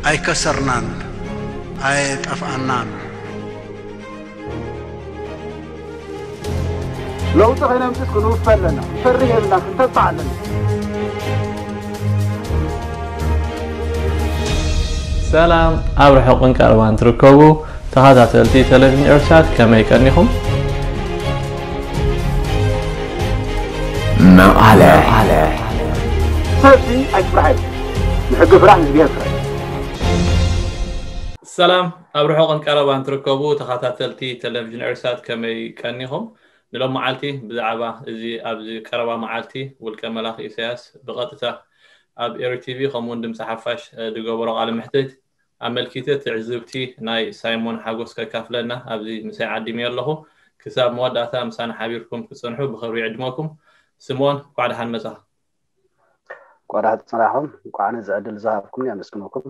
ኣይከሰርናን፣ ኣየጠፍኣናን። ለውጢ ከይነምፅስ ክንውፈ ኣለና። ክፈርህ የብልና፣ ክንተስፋ ኣለና። ሰላም ኣብ ርሑቕን ቀረባን ትርከቡ ተኸታተልቲ ቴሌቪዥን ኤርትሳት፣ ከመይ ቀኒኹም? መቐለ ሰልፊ ኣይትፍራሕ፣ ንሕጊ ፍራሕ፣ ህዝቢ ፍራሕ። ሰላም ኣብ ርሑቕን ቀረባን ትርከቡ ተኸታተልቲ ቴሌቪዥን ኤርትሳት፣ ከመይ ቀኒኹም? ንሎም መዓልቲ ብዛዕባ እዚ ኣብዚ ቀረባ መዓልቲ ውልቀ መላኺ ኢሳያስ ብቐጥታ ኣብ ኤሪ ቲቪ ከምኡውን ድምፂ ሓፋሽ ዝገበሮ ቃለ መሕትት ኣመልኪተ ትዕዝብቲ ናይ ሳይሞን ሓጎስ ከካፍለና ኣብዚ ምሳይ ዓዲመዮ ኣለኹ። ክሳብ መወዳእታ ምሳና ሓቢርኩም ክትፀንሑ ብኽብሪ ይዕድመኩም። ስምኦን፣ እንኳዕ ደሓን መጻኻ። እንኳዕ ደሓን ጸናሕኩም። እንኳዕ ነዚ ዕድል ዝሃብኩምኒ ኣመስግነኩም።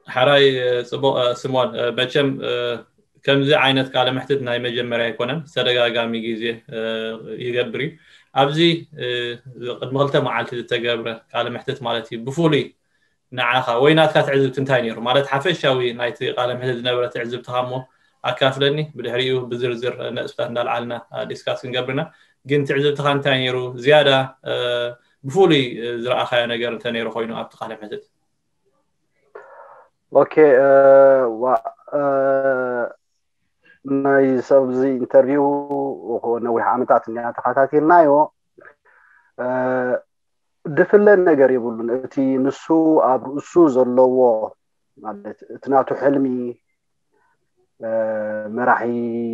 ሓራይ ጽቡቕ። ስምኦን፣ መቸም ከምዚ ዓይነት ቃለ መሕትት ናይ መጀመርያ ኣይኮነን፣ ተደጋጋሚ ግዜ ይገብር እዩ። ኣብዚ ቅድሚ ክልተ መዓልቲ ዝተገብረ ቃለ መሕትት ማለት እዩ፣ ብፍሉይ ንዓኻ ወይ ናትካ ትዕዝብቲ እንታይ ነይሩ? ማለት ሓፈሻዊ ናይቲ ቃለ መሕትት ዝነበረ ትዕዝብትኻ እሞ ኣካፍለኒ። ብድሕሪኡ ብዝርዝር ነጥብታት እንዳልዓልና ዲስካስ ክንገብርና። ግን ትዕዝብትኻ እንታይ ነይሩ? ዝያዳ ብፍሉይ ዝረኣኻዮ ነገር እንተ ነይሩ ኮይኑ ኣብቲ ቃለ መሕትት። ኦኬ፣ ዋ ናይ ሰብዚ ኢንተርቪው ነዊሕ ዓመታት እኒኣ ተኸታቲልናዮ። ድፍለ ነገር የብሉን። እቲ ንሱ ኣብ ርእሱ ዘለዎ ማለት እቲ ናቱ ሕልሚ መራሒ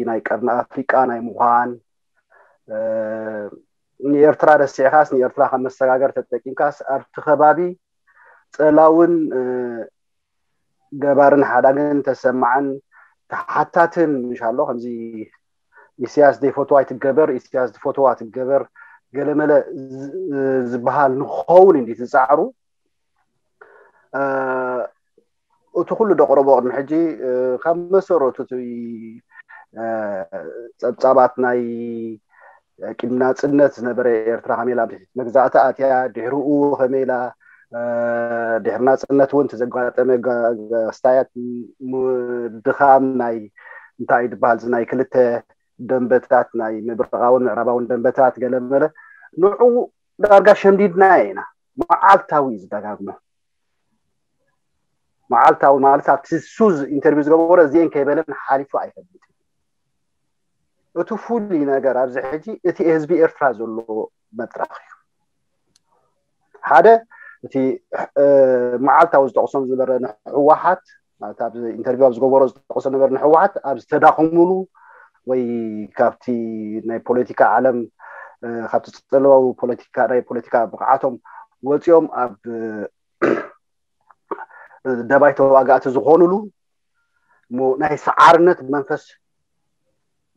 ናይ ቀርኒ ኣፍሪቃ ናይ ምዃን፣ ንኤርትራ ረሲዕካስ ንኤርትራ ካብ መሰጋገር ተጠቂምካስ ኣብቲ ከባቢ ጸላውን ገባርን ሓዳግን ተሰማዕን ተሓታትን ምሽ ኣሎ። ከምዚ ኢሳያስ ዘይፈትዋ ኣይትገበር፣ ኢሳያስ ዝፈትዋ ትገበር ገለመለ ዝበሃል ንክኸውን እንዲ ዝጻዕሩ፣ እቲ ኩሉ ደቕረቦ ቅድሚ ሕጂ ካብ መሰረቱ እቲ ጸብጻባት ናይ ቅድሚ ናጽነት ዝነበረ ኤርትራ ከመይ ኢላ ኣብ ትሕቲ መግዛእቲ ኣትያ፣ ድሕሪኡ ከመይ ኢላ ድሕሪ ናጽነት እውን ተዘጋጠመ ኣስታያት ድኻም ናይ እንታይ ዝበሃል ናይ ክልተ ደንበታት ናይ ምብራቓውን ምዕራባውን ደንበታት ገለመለ ንዑ ዳርጋ ሸምዲድና ኢና። መዓልታዊ እዩ ዝደጋግሞ። መዓልታዊ ማለት ኣብቲ ሱዝ ኢንተርቪው ዝገበሮ እዚአን ከይበለን ሓሊፉ ኣይፈልጥን። እቲ ፍሉይ ነገር ኣብዚ ሕጂ እቲ ህዝቢ ኤርትራ ዘለዎ መድረኽ እዩ። ሓደ እቲ መዓልታዊ ዝጠቕሶም ዝነበረ ንህወሓት ማለት ኣብ ኢንተርቪው ኣብ ዝገበሮ ዝጠቕሶ ነበር ንህወሓት ኣብ ዝተዳኸሙሉ ወይ ካብቲ ናይ ፖለቲካ ዓለም ካብቲ ጸለዋዊ ፖለቲካ ናይ ፖለቲካ ብቕዓቶም ወፂኦም ኣብ ደባይ ተዋጋእቲ ዝኾኑሉ ናይ ሰዓርነት መንፈስ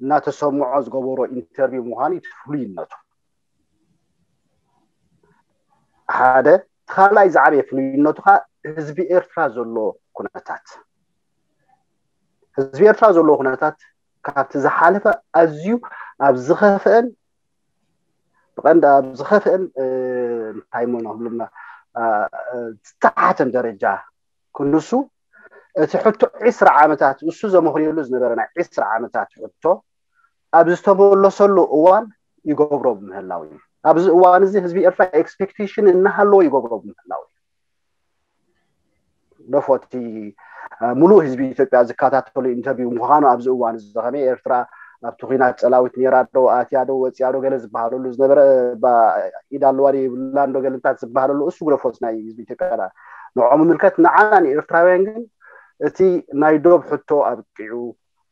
እናተሰምዖ ዝገበሮ ኢንተርቪው ምዃኑ እቲ ፍሉይነቱ ሓደ። እቲ ካልኣይ ዝዓበየ ፍሉይነቱ ከዓ ህዝቢ ኤርትራ ዘሎ ኩነታት ህዝቢ ኤርትራ ዘለዎ ኩነታት ካብቲ ዝሓለፈ ኣዝዩ ኣብ ዝኸፍአን ብቐንዲ ኣብ ዝኸፍአን እንታይ ሞ ንብልና ዝተሓተን ደረጃ ክንሱ እቲ ሕቶ ዒስራ ዓመታት እሱ ዘመኽንየሉ ዝነበረ ናይ ዒስራ ዓመታት ሕቶ ኣብ ዝተመለሰሉ እዋን ይገብሮ ብምህላው እዩ። ኣብዚ እዋን እዚ ህዝቢ ኤርትራ ኤክስፔክቴሽን እናሃለዎ ይገብሮ ብምህላው እዩ። ደፎቲ ሙሉእ ህዝቢ ኢትዮጵያ ዝከታተሉ ኢንተርቪው ምዃኑ ኣብዚ እዋን እዚ ከመይ ኤርትራ ኣብቲ ኩናት ጸላዊት ነይራ ዶ ኣትያ ዶ ወፅያ ዶ ገለ ዝበሃለሉ ዝነበረ ኢድ ኣለዋ የብላን ዶ ገለንታት ዝበሃለሉ እሱ ግደፎት ናይ ህዝቢ ኢትዮጵያ ንዖም ምልከት ንዓና ንኤርትራውያን ግን እቲ ናይ ዶብ ሕቶ ኣብቂዑ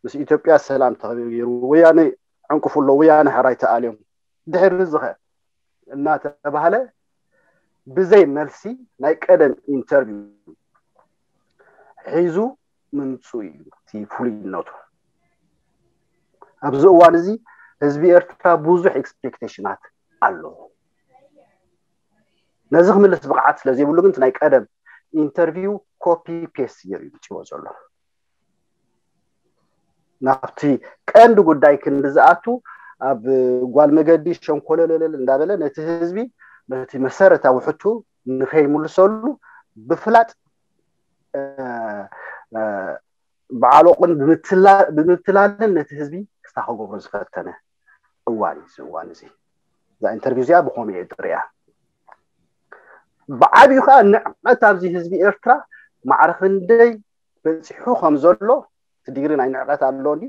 ምስ ኢትዮጵያ ሰላም ተኸቢሩ ወያነ ዕንቅፉ ኣሎ ወያነ ሕራይ ተኣልዮም ድሕሪ ዝኸ እናተባህለ ብዘይ መልሲ ናይ ቀደም ኢንተርቪው ሒዙ ምምፁ እዩ እቲ ፍሉይነቱ። ኣብዚ እዋን እዚ ህዝቢ ኤርትራ ብዙሕ ኤክስፔክቴሽናት ኣለዎ። ነዚ ክምልስ ብቕዓት ስለዘይብሉ ግን ናይ ቀደም ኢንተርቪው ኮፒ ፔስት ገይሩ ይምፅዎ ዘሎ። ናብቲ ቀንዲ ጉዳይ ክንዲ ዝኣቱ ኣብ ጓል መገዲ ሸንኮለለለል እንዳበለ ነቲ ህዝቢ ነቲ መሰረታዊ ሕቱ ንኸይምልሰሉ ብፍላጥ ብዓሎቕን ብምትላልን ነቲ ህዝቢ ክስታ ክገብሮ ዝፈተነ እዋን እዩ እዚ እዋን እዚ። እዛ ኢንተርቪው እዚኣ ብኸምኡ እየ ዝሪኣ። ብዓብዩ ከዓ ንዕቀት ኣብዚ ህዝቢ ኤርትራ ማዕረ ክንደይ በፂሑ ከም ዘሎ እቲ ዲግሪ ናይ ንዕቀት ኣሎ እንዲ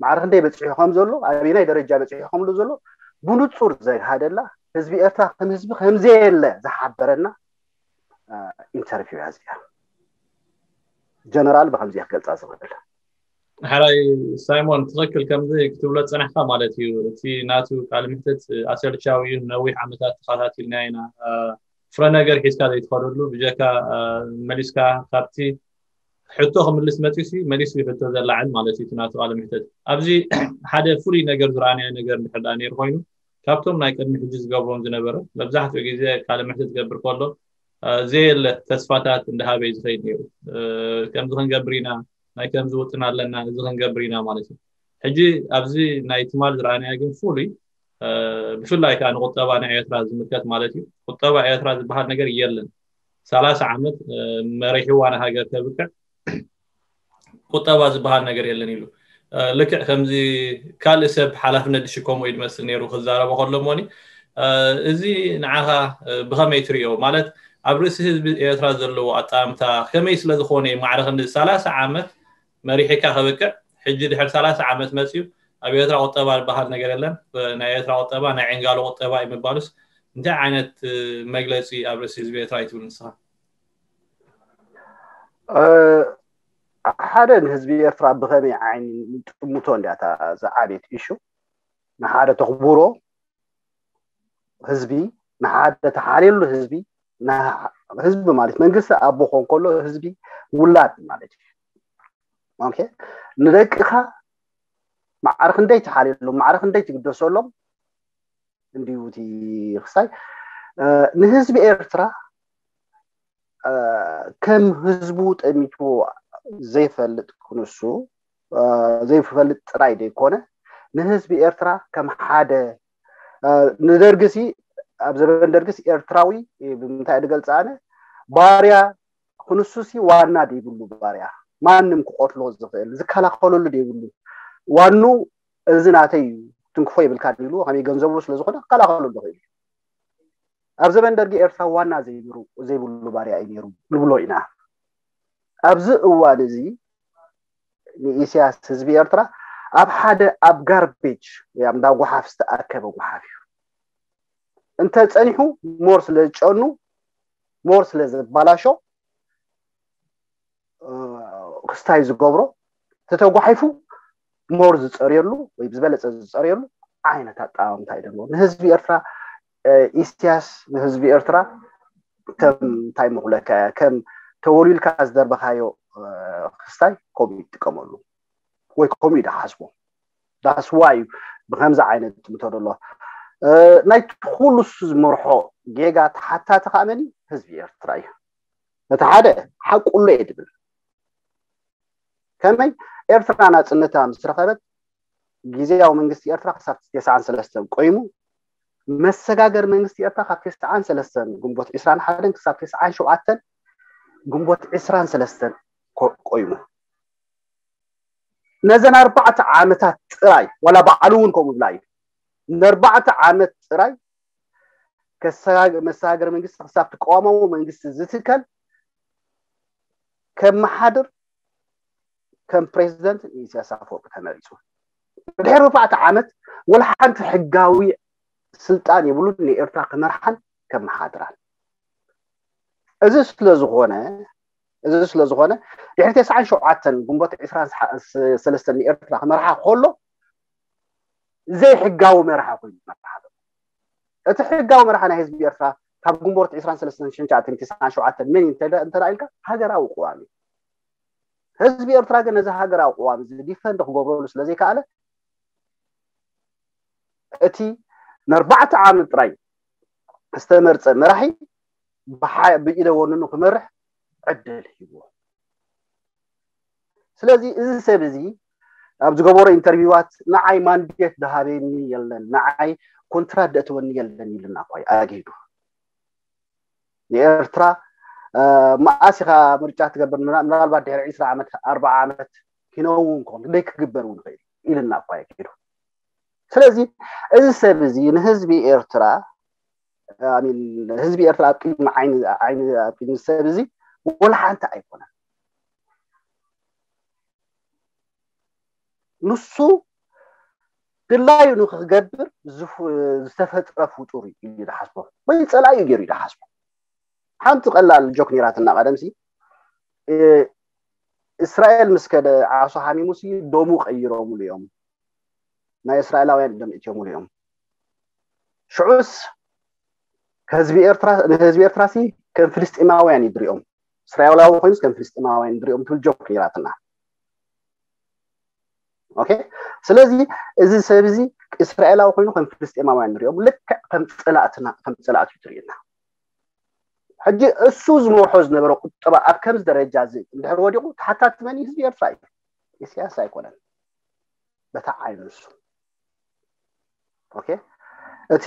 ማዕረ ክንደይ በፂሑ ከም ዘሎ ኣበየናይ ደረጃ በፂሑ ከም ዘሎ ብንፁር ዘግሃደላ ህዝቢ ኤርትራ ከም ህዝቢ ከምዘየለ ዝሓበረና ኢንተርቪው እያ እዚኣ። ጀነራል ብከምዚ ክገልፃ ዝኽእል። ሕራይ ሳይሞን፣ ትኽክል ከምዚ ክትብሎ ዝፀናሕካ ማለት እዩ። እቲ ናቱ ቃለ መሕትት ኣሰልቻዊ እዩ፣ ነዊሕ ዓመታት ተኸታቲልና ኢና። ፍረ ነገር ሒዝካ ዘይትኸደሉ ብጀካ መሊስካ ካብቲ ሕቶ ክምልስ መፂሲ መሊሱ ሕቶ ዘላዕል ማለት እዩ ናቱ ቃለ መሕትት። ኣብዚ ሓደ ፍሉይ ነገር ዝረኣናዮ ነገር እንድሕር ደኣ ነይሩ ኮይኑ ካብቶም ናይ ቅድሚ ሕጂ ዝገብሮም ዝነበረ መብዛሕትኡ ግዜ ቃለ መሕትት ዝገብር ከሎ ዘየለ ተስፋታት እንዳሃበ እዩ ዝኸይድ ነይሩ። ከምዚ ክንገብር ኢና፣ ናይ ከምዚ ውጥን ኣለና፣ እዚ ክንገብር ኢና ማለት እዩ። ሕጂ ኣብዚ ናይ ትማል ዝረኣናዮ ግን ፍሉይ ብፍላይ ከዓ ንቁጠባ ናይ ኤርትራ ዝምልከት ማለት እዩ። ቁጠባ ኤርትራ ዝበሃል ነገር የለን። ሰላሳ ዓመት መሪሕዋ ንሃገር ተብቅዕ ቁጠባ ዝበሃል ነገር የለን ኢሉ። ልክዕ ከምዚ ካልእ ሰብ ሓላፍነት ዝሽከሞ እዩ ዝመስል ነይሩ ክዛረቦ ከሎ እሞኒ፣ እዚ ንዓኻ ብኸመይ ትሪኦ? ማለት ኣብ ርእሲ ህዝቢ ኤርትራ ዘለዎ ኣጣምታ ከመይ ስለ ዝኾነ እዩ ማዕረ ክንዲ ሰላሳ ዓመት መሪሕካ ከበቅዕ ሕጂ ድሕሪ ሰላሳ ዓመት መፅዩ ኣብ ኤርትራ ቁጠባ ዝበሃል ነገር የለን፣ ናይ ኤርትራ ቁጠባ ናይ ዕንጋሎ ቁጠባ እዩ ምባሉስ እንታይ ዓይነት መግለፂ ኣብ ርእሲ ህዝቢ ኤርትራ እዩ ትብል ንስኻ? ሓደ ንህዝቢ ኤርትራ ብኸመይ ዓይኒ ንጥምቶ እንዲያ እታ ዝዓበየት ኢሹ። ንሓደ ተኽብሮ ህዝቢ፣ ንሓደ ተሓልየሉ ህዝቢ፣ ህዝቢ ማለት መንግስቲ ኣብ ክኾን ከሎ ህዝቢ ውላድ ማለት እዩ። ኦኬ፣ ንደቅኻ ማዕረ ክንደይ ትሓልየሎም፣ ማዕረ ክንደይ ትግደሰሎም እንዲዩ እቲ ክስታይ ንህዝቢ ኤርትራ ከም ህዝቡ ጠሚትዎ ዘይፈልጥ ክንሱ ዘይፈልጥ ጥራይ ዘይኮነ ንህዝቢ ኤርትራ ከም ሓደ ንደርግሲ ኣብ ዘበን ደርግስ ኤርትራዊ ብምንታይ ዝገልፅ ኣነ ባርያ ክንሱሲ ዋና ዘይብሉ ባርያ ማንም ክቆትሎ ዝኽእል ዝከላኸለሉ ዘይብሉ ዋኑ እዚ ናተይ እዩ ትንክፎ ይብልካ ኢሉ ከመይ ገንዘቡ ስለዝኾነ ክከላኸለሉ ይኽእል። ኣብ ዘበን ደርጊ ኤርትራ ዋና ዘይብሉ ባርያ እዩ ነይሩ ንብሎ ኢና። ኣብዚ እዋን እዚ ንኢሳያስ ህዝቢ ኤርትራ ኣብ ሓደ ኣብ ጋርቤጅ ወይ ኣብ እንዳ ጓሓፍ ዝተኣከበ ጓሓፍ እዩ። እንተ ጸኒሑ ሞር ስለ ዝጨኑ ሞር ስለ ዘባላሾ ክስታይ ዝገብሮ ተተጓሒፉ ሞር ዝፀርየሉ ወይ ብዝበለፀ ዝፀርየሉ ዓይነት ኣጠማምታ እዩ ዘለዎ ንህዝቢ ኤርትራ። ኢሳያስ ንህዝቢ ኤርትራ ከም እንታይ ምኽለካ ከም ተወሊልካ ዝደርበኻዮ ክስታይ ከምኡ ይጥቀመሉ ወይ ከምኡ ይደሓስቦ። ዳስ ዋይ ብከምዚ ዓይነት ምተደሎ ናይቲ ኩሉ ዝመርሖ ጌጋ ተሓታቲ ከዓ መን ህዝቢ ኤርትራ እዩ። እቲ ሓደ ሓቁሎ እየ ድብል ከመይ ኤርትራ ናፅነታ ምስ ረኸበት ግዜያዊ መንግስቲ ኤርትራ ክሳብ ተስዓን ሰለስተን ቆይሙ መሰጋገር መንግስቲ ኤርትራ ካብ ተስዓን ሰለስተን ግንቦት ዕስራን ሓደን ክሳብ ተስዓን ሸውዓተን ግንቦት ዕስራን ሰለስተን ቆይሙ ነዘን ኣርባዕተ ዓመታት ጥራይ ዋላ ባዕሉ እውን ከምኡ ብላ እዩ ንኣርባዕተ ዓመት ጥራይ መሰጋገር መንግስቲ ክሳብ ትቃወማዊ መንግስቲ ዝትከል ከመሓድር ከም ፕሬዚደንት ንኢሳያስ ኣፈወርቂ ተመሪፁ። ድሕሪ ኣርባዕተ ዓመት ወላ ሓንቲ ሕጋዊ ስልጣን የብሉን ንኤርትራ ክመርሓን ከመሓድራን። እዚ ስለዝኾነ እዚ ስለዝኾነ ድሕሪ ተስዓን ሸውዓተን ግንቦት ዕስራን ሰለስተን ንኤርትራ ክመርሓ ከሎ ዘይሕጋዊ መርሓ ኮይኑ መርሓ እቲ ሕጋዊ መርሓ ናይ ህዝቢ ኤርትራ ካብ ግንቦት ዕስራን ሰለስተን ሽንሻትን ተስዓን ሸውዓተን መን እዩ እንተ ኢልካ ሃገራዊ ቅዋም እዩ። ህዝቢ ኤርትራ ግን ነዚ ሃገራዊ ቅዋም እዚ ዲፈንድ ክገብረሉ ስለዘይከኣለ እቲ ንኣርባዕተ ዓመት ጥራይ ዝተመርፀ መራሒ ብኢደ ወንኑ ክመርሕ ዕድል ሂብዎ። ስለዚ እዚ ሰብ እዚ ኣብ ዝገበሮ ኢንተርቪዋት ንዓይ ማንዴት ዝሃበኒ የለን፣ ንዓይ ኮንትራት ዘእተወኒ የለን ኢሉና እኳ እዩ ኣግሂዱ። ንኤርትራ መኣስ ኢኻ ምርጫ ትገብር? ምናልባት ድሕሪ ዕስራ ዓመት፣ ኣርባዓ ዓመት ኪነውን ክኾን ደይ ክግበር እውን ይኽእል ኢልና እኳ እዩ ኪዱ። ስለዚ እዚ ሰብ እዚ ንህዝቢ ኤርትራ፣ ኣሚን፣ ህዝቢ ኤርትራ ኣብ ቅድሚ ዓይኒ፣ ዓይኒ፣ ኣብ ቅድሚ ሰብ እዚ ወላ ሓንቲ ኣይኮነን። ንሱ ድላዩ ንክገብር ዝተፈጥረ ፍጡር እዩ ኢሉ ይሓስቦ፣ ወይ ፀላዩ ገይሩ ይሓስቦ። ሓንቲ ቀላል ጆክ ነይራትና ቀደምሲ፣ እስራኤል ምስ ከደ ዓሶ ሓሚሙሲ ደሙ ቀይሮምሉ እዮም። ናይ እስራኤላውያን ደም እትዮምሉ እዮም። ሽዑስ ከህዝቢ ኤርትራ፣ ንህዝቢ ኤርትራሲ ከም ፍልስጤማውያን ይድሪኦም፣ እስራኤላዊ ኮይኑስ ከም ፍልስጤማውያን ይድሪኦም ትብል ጆክ ነይራትና። ኦኬ፣ ስለዚ እዚ ሰብ እዚ እስራኤላዊ ኮይኑ ከም ፍልስጤማውያን ንሪኦም፣ ልክዕ ከም ፀላእትና፣ ከም ፀላእቱ ይትርእየና። ሕጂ እሱ ዝመርሖ ዝነበረ ቁጠባ ኣብ ከምዚ ደረጃ እዚ እንድሕር ወዲቑ፣ ተሓታቲ መን እዩ? ህዝቢ ኤርትራ እዩ፣ ኢሳያስ ኣይኮነን። በታ ዓይኑ ንሱ። ኦኬ፣ እቲ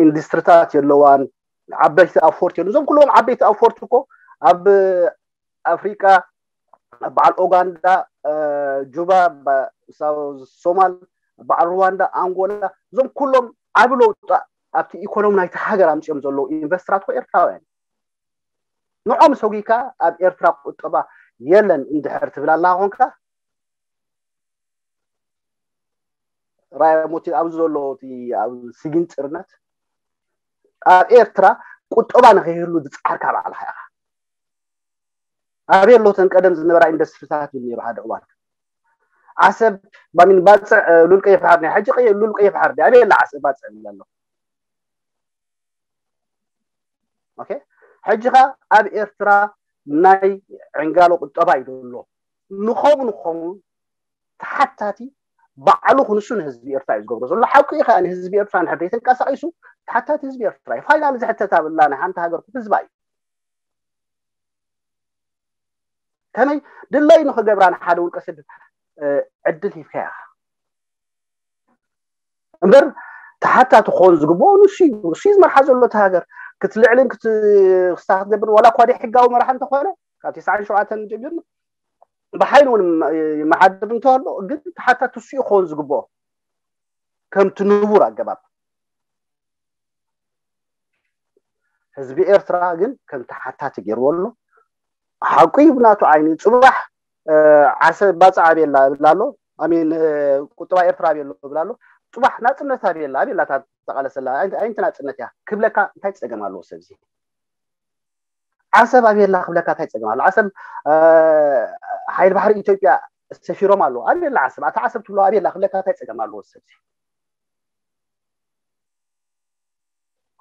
ኢንዱስትሪታት የለዋን፣ ዓበይቲ ኣፎርት የሉ። እዞም ኩሎም ዓበይቲ ኣፎርት እኮ ኣብ ኣፍሪቃ፣ በዓል ኦጋንዳ፣ ጁባ፣ ሳውዝ ሶማል፣ በዓል ሩዋንዳ፣ ኣንጎላ፣ እዞም ኩሎም ዓቢ ለውጢ ኣብቲ ኢኮኖሚ ናይቲ ሃገር ኣምፅኦም ዘለዉ ኢንቨስተራት እኮ ኤርትራውያን። ንዖም ሰጉካ ኣብ ኤርትራ ቁጠባ የለን እንድሕር ትብል ኣላ ኮንካ፣ ራያ ሞቲ ኣብዚ ዘሎ እቲ ኣብ ስጊን ፅርነት ኣብ ኤርትራ ቁጠባ ንኸይህሉ ዝፀዓርካ ባዕልኻ ኢኻ። ኣበይ ኣሎ እተን ቀደም ዝነበራ ኢንዱስትሪታት ይብል ነይሩ ሓደ እዋን። ዓሰብ ባሚን ባፅዕ ሉል ቀይሕ ባሕር ናይ ሕጂ ቀይ ሉል ቀይሕ ባሕር ኣበይ ኣላ ዓሰብ ባፅዕ ይብል ኣሎ። ኦኬ፣ ሕጂ ኸ ኣብ ኤርትራ ናይ ዕንጋሎ ቁጠባ እዩ ዘሎ። ንኸሙ ንኸሙ ተሓታቲ ባዕሉ ክንሱ ንህዝቢ ኤርትራ እዩ ዝገብሮ ዘሎ። ሓቂ እዩ ከዓ ንህዝቢ ኤርትራ ንሕድሪ ተንቀሳቒሱ ተሓታቲ ህዝቢ ኤርትራ እዩ። ፋይናል ዝሕተት ኣብላ ናይ ሓንቲ ሃገር ህዝባ እዩ። ከመይ ድለይ ንኽገብራ ንሓደ ውልቀ ሰብ ዕድል ሂብካያ እምበር ተሓታቲ ክኾን ዝግብኦ ንሱ እዩ። ንሱ እዩ ዝመርሓ ዘሎ እቲ ሃገር። ክትልዕልን ክስታ ክትገብር ዋላ እኳ ደይ ሕጋዊ መራሒ እንተኾነ ካብ ተስዓን ሸውዓተን ጀሚርና ብሓይሊ እውን ይመሓድር እንተሎ ግን ተሓታቲ ንሱ እዩ ክኾን ዝግብኦ ከምቲ ንቡር ኣገባብ። ህዝቢ ኤርትራ ግን ከም ተሓታቲ ገይርዎ ኣሎ። ሓቁ እዩ ብናቱ ዓይኒ። ፅባሕ ዓሰብ ባፅዕ ኣቤላ እብል ኣሎ፣ ኣሚን ቁጠባ ኤርትራ ኣቤሎ እብል ኣሎ። ፅባሕ ናፅነት ኣቤላ ኣቤላ እታ ተቃለሰላ ኣይቲ ናፅነት እያ ክብለካ እንታይ ፀገም ኣለዎ? ሰብዚ ዓሰብ ኣቤላ ክብለካ እንታይ ፀገም ኣሎ? ዓሰብ ሓይሊ ባሕሪ ኢትዮጵያ ሰፊሮም ኣለዉ ኣቤላ ዓሰብ ኣታ ዓሰብ ትብሎ ኣቤላ ክብለካ እንታይ ፀገም ኣለዎ? ሰብዚ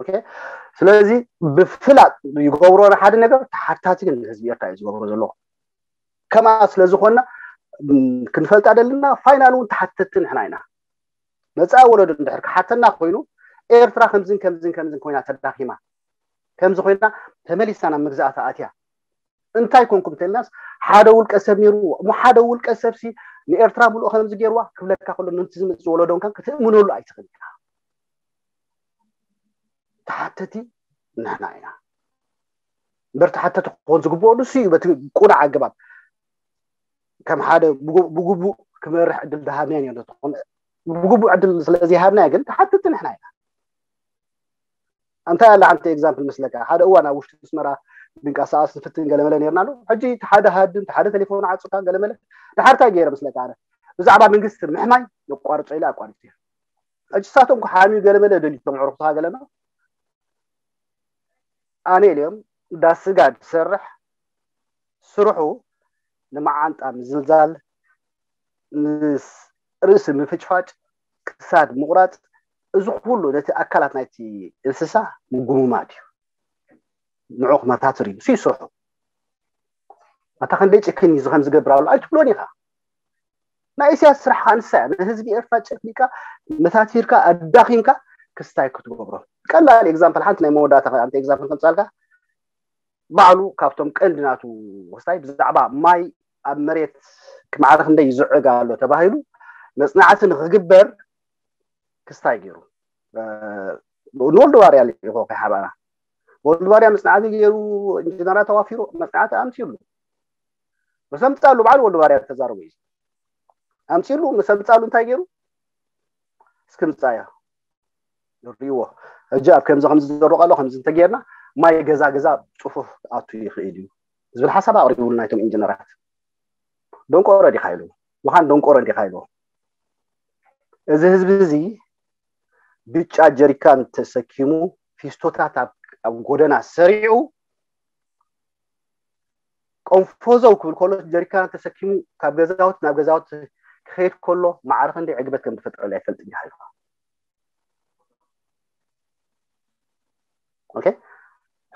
ኦኬ። ስለዚ ብፍላጥ ይገብሮ ንሓደ ነገር ተሓታቲ ግን ንህዝቢ ኤርትራ እዩ ዝገብሮ ዘለዎ። ከምኣ ስለ ዝኾንና ክንፈልጣ ደልና ፋይናል እውን ተሓተቲ ንሕና ኢና። መፃኢ ወለዶ እንድሕር ክሓተና ኮይኑ ኤርትራ ከምዝን ከምዝን ከምዝን ኮይና ተዳኺማ ከምዚ ኮይና ተመሊሳ ናብ መግዛእታ ኣትያ እንታይ ኮንኩም ተልናስ ሓደ ውልቀ ሰብ ነይሩ እሞ ሓደ ውልቀ ሰብ ሲ ንኤርትራ ምሉእ ከምዚ ገይርዋ ክብለካ ከሎ ነቲ ዝመፅእ ወለዶ እንኳን ክትእምነሉ ኣይትኽእል ኢኻ። ተሓተቲ ንሕና ኢና እምበር ተሓተቲ ክኾን ዝግብኦ ንሱ እዩ። በቲ ቁኑዕ ኣገባብ ከም ሓደ ብግቡእ ክመርሕ ዕድል ዝሃብናዮ ነተኾነ ብግቡእ ዕድል ስለዘይሃብናዮ ግን ተሓተቲ ንሕና ኢና። እንታይ ኣላ ሓንቲ ኤግዛምፕል ምስለካ ሓደ እዋን ኣብ ውሽጢ ኣስመራ ድንቃሳኣስ ዝፍትን ገለመለ ነርና ኣሎ። ሕጂ ሓደ ሃድም ሓደ ቴሌፎን ዓፅካ ገለመለ ድሓር እንታይ ገይረ ምስለካ ኣነ ብዛዕባ መንግስቲ ምሕማይ ነቋርፆ ኢለ ኣቋሪፅ ሕጂ ሳቶም ክሓምዩ ገለመለ ደልዩ ተምዕርኩታ ገለመ ኣነ ኢልዮም እንዳ ስጋ ዝሰርሕ ስርሑ ንመዓንጣ ምዝልዛል ምስ ርእሲ ምፍጭፋጭ ክሳድ ምቑራፅ እዚ ኩሉ ነቲ ኣካላት ናይቲ እንስሳ ምጉምማት እዩ። ንዑ ክመታትር እዩ እሱ ይስርሑ ኣታ ክንደይ ጭክን እዩ ዝኸም ዝገብር ኣሎ ኣይትብሎን ኢኻ። ናይ ኢሳያስ ስራሕ ከዓ ንሳ እያ ንህዝቢ ኤርትራ ጨፍሊቃ መታቲርካ ኣዳኺምካ ክስታይ ክትገብሮ። ቀላል ኤግዛምፕል ሓንቲ ናይ መወዳእታ ኣንቲ ኤግዛምፕል ከምፃልካ ባዕሉ ካብቶም ቀንዲ ናቱ ክስታይ ብዛዕባ ማይ ኣብ መሬት ክማዕረ ክንደይ ይዝዕግ ኣሎ ተባሂሉ መፅናዕቲ ንክግበር ክስታይ ገይሩ ንወልዲ ዋርያ ልኢኮ ከይሓባና ወልዱ ባርያ መፅናዕቲ ገይሩ፣ ኢንጂነራት ኣዋፊሩ መፅናዕቲ ኣምፅሉ። ምስ ኣምፃሉ ባዕሉ ወልዱ ባርያ ተዛረቡ እዩ ኣምፅሉ። ምስ ኣምፃሉ እንታይ ገይሩ? እስኪ ምፃያ ርእይዎ። ሕጂ ኣብ ከምዚ ከምዚ ዝዘሩ ኣሎ ከምዚ እንተጌርና ማይ ገዛ ገዛ ፅፉፍ ኣቱ ይኽእል እዩ ዝብል ሓሳብ ኣቕሪቡሉ ናይቶም ኢንጂነራት። ደንቆሮ ዲኻ ኢሉ ምዃን ደንቆሮ እንዲኻ ኢሉ። እዚ ህዝቢ እዚ ብጫ ጀሪካን ተሰኪሙ ፊስቶታት ኣብ ኣብ ጎደና ሰሪዑ ቆንፎዘው ክብል ከሎ ጀሪካን ተሰኪሙ ካብ ገዛውት ናብ ገዛውት ክኸይድ ከሎ ማዕረ ክንደይ ዕግበት ከም ዝፈጥረሉ ኣይፈልጥ እንዲኻ ኢልካ። ኦኬ፣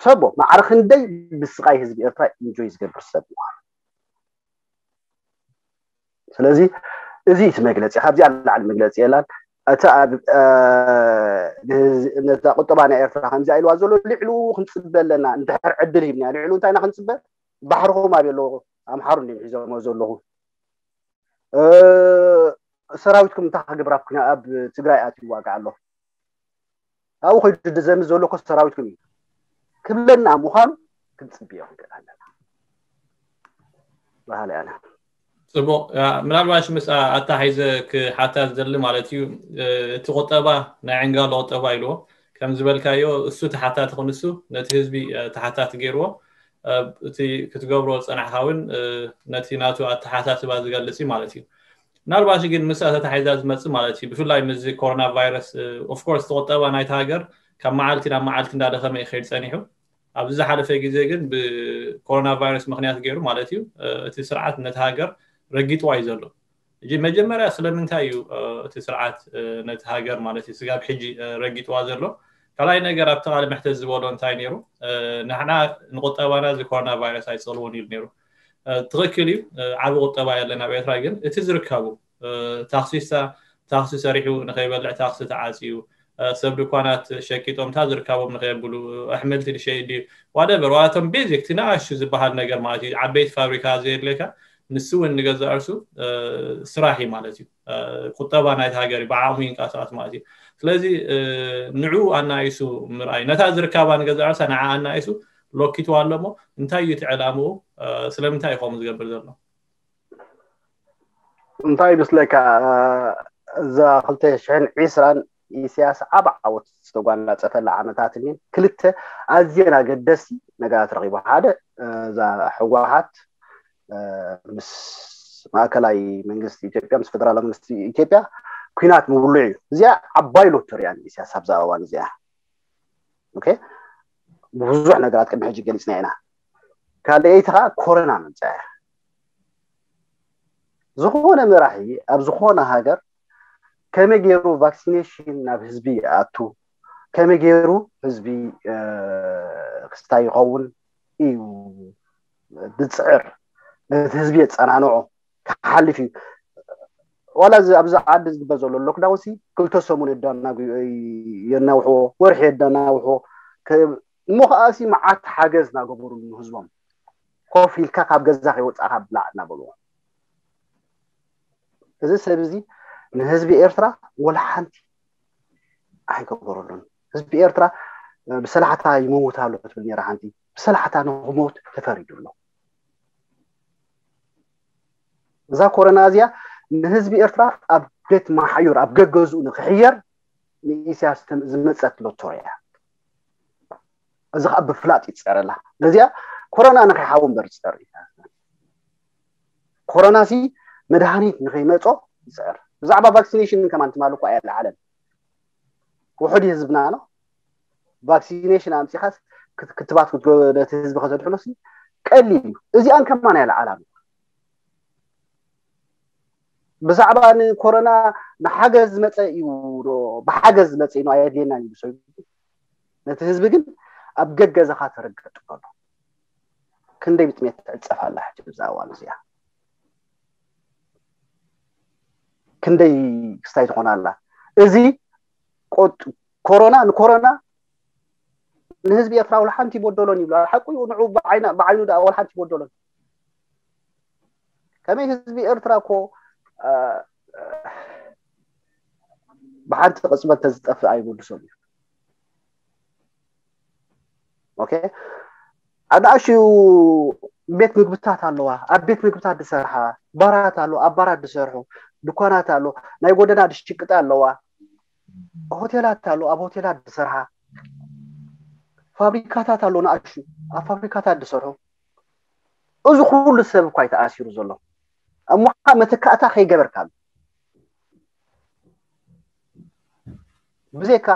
ሕሰቦ ማዕረ ክንደይ ብስቓይ ህዝቢ ኤርትራ ኢንጆይ ዝገብር ሰብ ምዃኑ። ስለዚ እዚ እቲ መግለፂ ካብዚኣ ንላዕሊ መግለፂ የላን። እቲ ኣብ ነታ ቁጠባ ናይ ኤርትራ ከምዚኣ ኢልዋ ዘሎ ልዕሉ ክንፅበ ኣለና። እንድሕር ዕድል ሂብና ልዕሉ እንታይ ኢና ክንፅበ? ባሕርኹም ኣብ ኣለዎ ኣምሓሩ እንዲም ሒዞሞ ዘለኹ። ሰራዊትኩም እንታይ ክገብር ኣብ ኩና ኣብ ትግራይ ኣትዩ ይዋጋእ ኣሎ? ኣብኡ ከይዱ ድዘምት ዘሎ እኮ ሰራዊትኩም እዩ ክብለና ምዃኑ ክንፅብዮ ክንክእል ኣለና በሃሊ ኣነ። ፅቡቅ። ምናልባሽ ምስ ኣታሓይዘ ክሓታ ዝደሊ ማለት እዩ። እቲ ቁጠባ ናይ ዕንጋሎ ቁጠባ ኢልዎ ከም ዝበልካዮ እሱ ተሓታቲ ክንሱ ነቲ ህዝቢ ተሓታቲ ገይርዎ። እቲ ክትገብሮ ዝፀናሕካ እውን ነቲ ናቱ ኣተሓሳስባ ዝገልፅ እዩ ማለት እዩ። ምናልባሽ ግን ምስ ኣተታሒዛ ዝመፅእ ማለት እዩ። ብፍላይ ምስዚ ኮሮና ቫይረስ ኦፍኮርስ ተቆጠባ ናይቲ ሃገር ካብ መዓልቲ ናብ መዓልቲ እንዳደኸመ ይኸይድ ፀኒሑ። ኣብዚ ዝሓለፈ ግዜ ግን ብኮሮና ቫይረስ ምክንያት ገይሩ ማለት እዩ እቲ ስርዓት ነቲ ሃገር ረጊጥዋ እዩ ዘሎ። እጂ መጀመርያ ስለምንታይ እዩ እቲ ስርዓት ነቲ ሃገር ማለት እዩ ስጋብ ሕጂ ረጊጥዋ ዘሎ? ካልኣይ ነገር ኣብቲ ቃለ መሕተት ዝበሎ እንታይ ነይሩ? ንሕና ንቁጠባና እዚ ኮሮና ቫይረስ ኣይፀልዎን ኢሉ ነይሩ። ትኽክል እዩ፣ ዓቢ ቁጠባ የለን ኣብ ኤርትራ። ግን እቲ ዝርከቡ ታክሲሳ ታክሲ ሰሪሑ ንኸይበልዕ ታክሲ ተዓፅዩ፣ ሰብ ድኳናት ሸቂጦም እታ ዝርካቦም ንኸየብሉ ኣሕምልቲ ድሸይድ ድዩ ዋደቨር ዋቶም ቤዚክ እቲ ንኣሹ ዝበሃል ነገር ማለት እዩ። ዓበይቲ ፋብሪካ ዘየድልየካ ንሱ እውን ንገዛእ ርሱ ስራሕ እዩ ማለት እዩ። ቁጠባ ናይቲ ሃገር እዩ ብዓቕሙ ይንቀሳቐስ ማለት እዩ። ስለዚ ንዕኡ ኣናኢሱ ምርኣይ ነታ ዝርካባ ንገዛእ ርሳ ንዓ ኣናኢሱ ሎኪትዋ ኣሎ እሞ እንታይ እዩ እቲ ዕላምኡ? ስለምንታይ እዩ ከምኡ ዝገብር ዘሎ? እንታይ ይመስለካ? እዛ ክልተ ሽሕን ዕስራን ኢሳያስ ዓብ ዓወት ዝተጓናፀፈላ ዓመታት እኒን ክልተ ኣዝየን ኣገደስቲ ነገራት ረኺቡ። ሓደ እዛ ህወሓት ምስ ማእከላይ መንግስቲ ኢትዮጵያ ምስ ፌደራላዊ መንግስቲ ኢትዮጵያ ኩናት ምብሉዕ እዩ። እዚኣ ዓባይ ሎተሪያ ንኢሳያስ ኣብዛ እዋን እዚኣ። ኦኬ፣ ብዙሕ ነገራት ቅድሚ ሕጂ ገሊፅና ኢና። ካልኣይቲ ከዓ ኮረና መምፅኣ እያ። ዝኾነ መራሒ ኣብ ዝኾነ ሃገር ከመይ ገይሩ ቫክሲኔሽን ናብ ህዝቢ ይኣቱ፣ ከመይ ገይሩ ህዝቢ ክስታይ ይኸውን እዩ ዝፅዕር፣ ነቲ ህዝቢ የፀናንዖ ክሓልፍ እዩ። ዋላ ኣብዚ ዓዲ ዝግበር ዘሎ ሎክዳውን ሲ ክልተ ሰሙን የናውሕዎ፣ ወርሒ የናውሕዎ። እሞ ከዓ ሲ መዓት ሓገዝ እናገበሩሉ ንህዝቦም ኮፍ ኢልካ ካብ ገዛ ከይወፃእካ ብላዕ እናበልዎ። እዚ ሰብ እዚ ንህዝቢ ኤርትራ ወላ ሓንቲ ኣይገበረሉን። ህዝቢ ኤርትራ ብሰላሕታ ይመውት ኣሎ ትብል ነራ ሓንቲ ብሰላሕታ ንክመውት ተፈሪዱ ኣሎ። እዛ ኮረና እዚኣ ንህዝቢ ኤርትራ ኣብ ቤት ማሓዩር ኣብ ገገዝኡ ንክሕየር ንኢሳያስ ዝመፀት ሎቶሪ እያ። እዚ ከዓ ብፍላጥ ይፀረላ። ነዚኣ ኮረና ንከይሓዊ እምበር ዝፀር ኮሮና ሲ መድሃኒት ንከይመፆ ይፅዕር። ብዛዕባ ቫክሲኔሽን ከማን ትማል እኮ ኣየለዓለን። ውሑድ ህዝብና ነው። ቫክሲኔሽን ኣምፂኻስ ክትባት ነቲ ህዝቢ ከተድሕኖ ሲ ቀሊል እዩ። እዚኣን ከማን ኣየለዓላሉ። ብዛዕባ ንኮሮና ንሓገዝ ዝመፀ እዩ፣ ብሓገዝ ዝመፀ እዩ ኣየድልየና እዩ ሰው። ነቲ ህዝቢ ግን ኣብ ገገዛኻ ተረገጥ ኣሎ። ክንደይ ብጥሜት ትዕፀፍ ኣላ ሕጂ ብዛ እዋን እዚኣ? ክንደይ ክስታይ ትኾን ኣላ? እዚ ኮሮና ንኮሮና ንህዝቢ ኤርትራ ወላ ሓንቲ ይበደሎን ይብሉ። ሓቁ እዩ፣ ንዑ ብዓይኑ ደኣ ወላ ሓንቲ ይበደሎን። ከመይ ህዝቢ ኤርትራ እኮ ብሓንቲ ቅፅበት ተዝጠፍእ ኣይምልሶም እዩ። ኦኬ ኣናእሽዩ ቤት ምግብታት ኣለዋ። ኣብ ቤት ምግብታት ዝሰርሓ ባራት ኣሎ፣ ኣብ ባራት ዝሰርሑ ድኳናት ኣሎ፣ ናይ ጎደና ድሽቅጣ ኣለዋ፣ ሆቴላት ኣሎ፣ ኣብ ሆቴላት ዝሰርሓ ፋብሪካታት ኣሎ፣ ናእሹ ኣብ ፋብሪካታት ዝሰርሑ። እዚ ኩሉ ሰብ እኳ ይተኣሲሩ ዘሎ። እሞ ከዓ መተካእታ ከይገበርካሉ ብዘይካ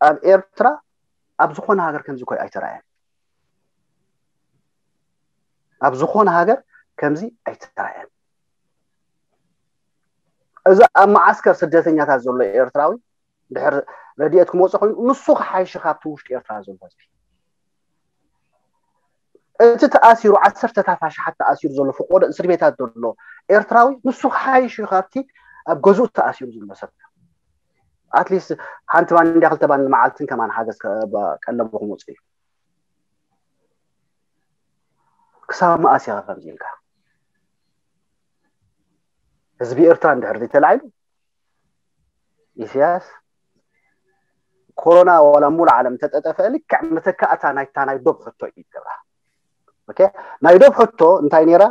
ኣብ ኤርትራ ኣብ ዝኾነ ሃገር ከምዚ ኮይ ኣይተራእየን። ኣብ ዝኾነ ሃገር ከምዚ ኣይተራእየን። እዚ ኣብ መዓስከር ስደተኛታት ዘሎ ኤርትራዊ ድሕር ረድኤት ክመፅእ ኮይኑ ንሱ ክሓይሽ ካብቲ ውሽጢ ኤርትራ ዘሎ ህዝቢ እቲ ተኣሲሩ ዓሰርተታት ኣሽሓት ተኣሲሩ ዘሎ ፍቆዶ እስር ቤታት ዘሎ ኤርትራዊ ንሱ ክሓይሽ እዩ ካብቲ ኣብ ገዝኡ ተኣሲሩ ዘሎ ሰብ ኣትሊስት ሓንቲ ባንድያ ክልተ ባንድ መዓልትን ከማን ሓገዝ ቀለቡ ክመፅእ እዩ ክሳብ መኣስ ኢኻ ከምዚ ኢልካ ህዝቢ ኤርትራ እንድሕር ዘይተላዒሉ ኢሳያስ ኮሮና ዋላ ሙሉ ዓለም ተጠጠፈ ልክዕ መተካእታ ናይታ ናይ ዶብ ሕቶ እዩ ይገብራ ናይ ዶብ ሕቶ እንታይ ነራ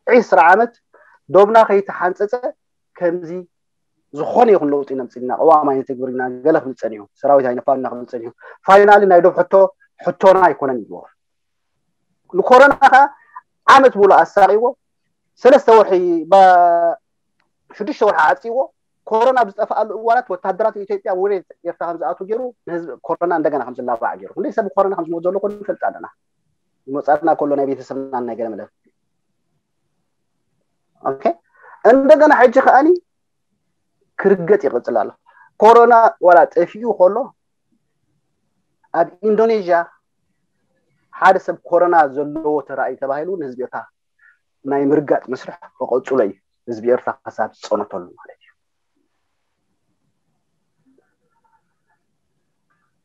ዒስራ ዓመት ዶብና ከይተሓንፀፀ ከምዚ ዝኾነ ይኹን ለውጢ ነምፅልና ቅዋም ኣይነተግብርና ገለ ክብል ፀኒሑ ሰራዊት ኣይነፋልና ክብል ፀኒሑ ፋይናሊ ናይ ዶብ ሕቶ ሕቶና ኣይኮነን ይብልዎ ንኮሮና ከዓ ዓመት ሙሉ ኣሳቂዎ ሰለስተ ወርሒ ሽዱሽተ ወርሒ ዓፂዎ ኮሮና ብዝጠፍኣሉ እዋናት ወታደራት ኢትዮጵያ ወደ ኤርትራ ከምዝኣቱ ገይሩ ንህዝቢ ኮሮና እንደገና ከምዝላባዕ ገይሩ ክንደይ ሰብ ኮሮና ከምዝሞት ዘሎ ኮ ንፈልጥ ኣለና ይመፃና ከሎ ናይ ቤተሰብና ናይ ገለመለ እንደገና ሕጂ ከኣኒ ክርገጥ ይቕፅል ኣሎ ኮሮና ዋላ ጠፊኡ ከሎ ኣብ ኢንዶኔዥያ ሓደ ሰብ ኮሮና ዘለዎ ተራእዩ ተባሂሉ ንህዝቢ ኤርትራ ናይ ምርጋጥ መስርሕ ክቐፅሎ እዩ ህዝቢ ኤርትራ ክሳብ ዝፀነተሉ ማለት እዩ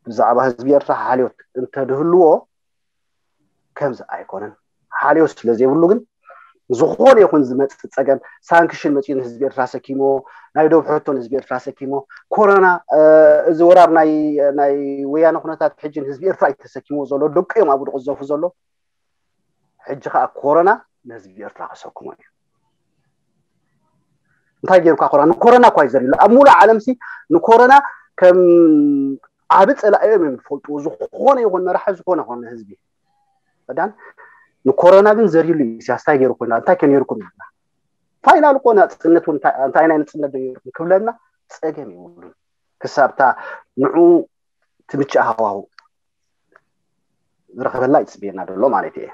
ብዛዕባ ህዝቢ ኤርትራ ሓልዮት እንተድህልዎ ከምዚ ኣይኮነን ሓልዮት ስለ ዘይብሉ ግን ዝኾነ ይኹን ዝመፅእ ፀገም ሳንክሽን መፅኡ ንህዝቢ ኤርትራ ሰኪሞ ናይ ዶብ ሕቶ ንህዝቢ ኤርትራ ሰኪሞ ኮሮና እዚ ወራር ናይ ወያነ ኩነታት ሕጂ ንህዝቢ ኤርትራ እዩ ተሰኪሞ ዘሎ ደቂ እዮም ኣብኡ ዝቕዘፉ ዘሎ ሕጂ ከዓ ኮሮና ንህዝቢ ኤርትራ ከሰክሞ እዩ እንታይ ገይሩካ ኮሮና ንኮሮና እኳ እዩ ዘሪሉ ኣብ ሙሉእ ዓለም ሲ ንኮሮና ከም ዓቢ ፀላኢ እዮም እዮም ዝፈልጥዎ ዝኾነ ይኹን መራሒ ዝኾነ ይኹን ህዝቢ ዳን ንኮሮና ግን ዘሪሉ እዩ ኢሳያስ እንታይ ገይሩ ኮይና እንታይ ከ ነይርኩም ኢልና ፋይናል እኮ ናፅነት እንታይ ናይ ንፅነት ዶ ነይርኩም ክብለና ፀገም ይብሉን ክሳብታ ንዑ ትምችእ ሃዋሁ ዝረኸበላ ይፅብየና ዘሎ ማለት እየ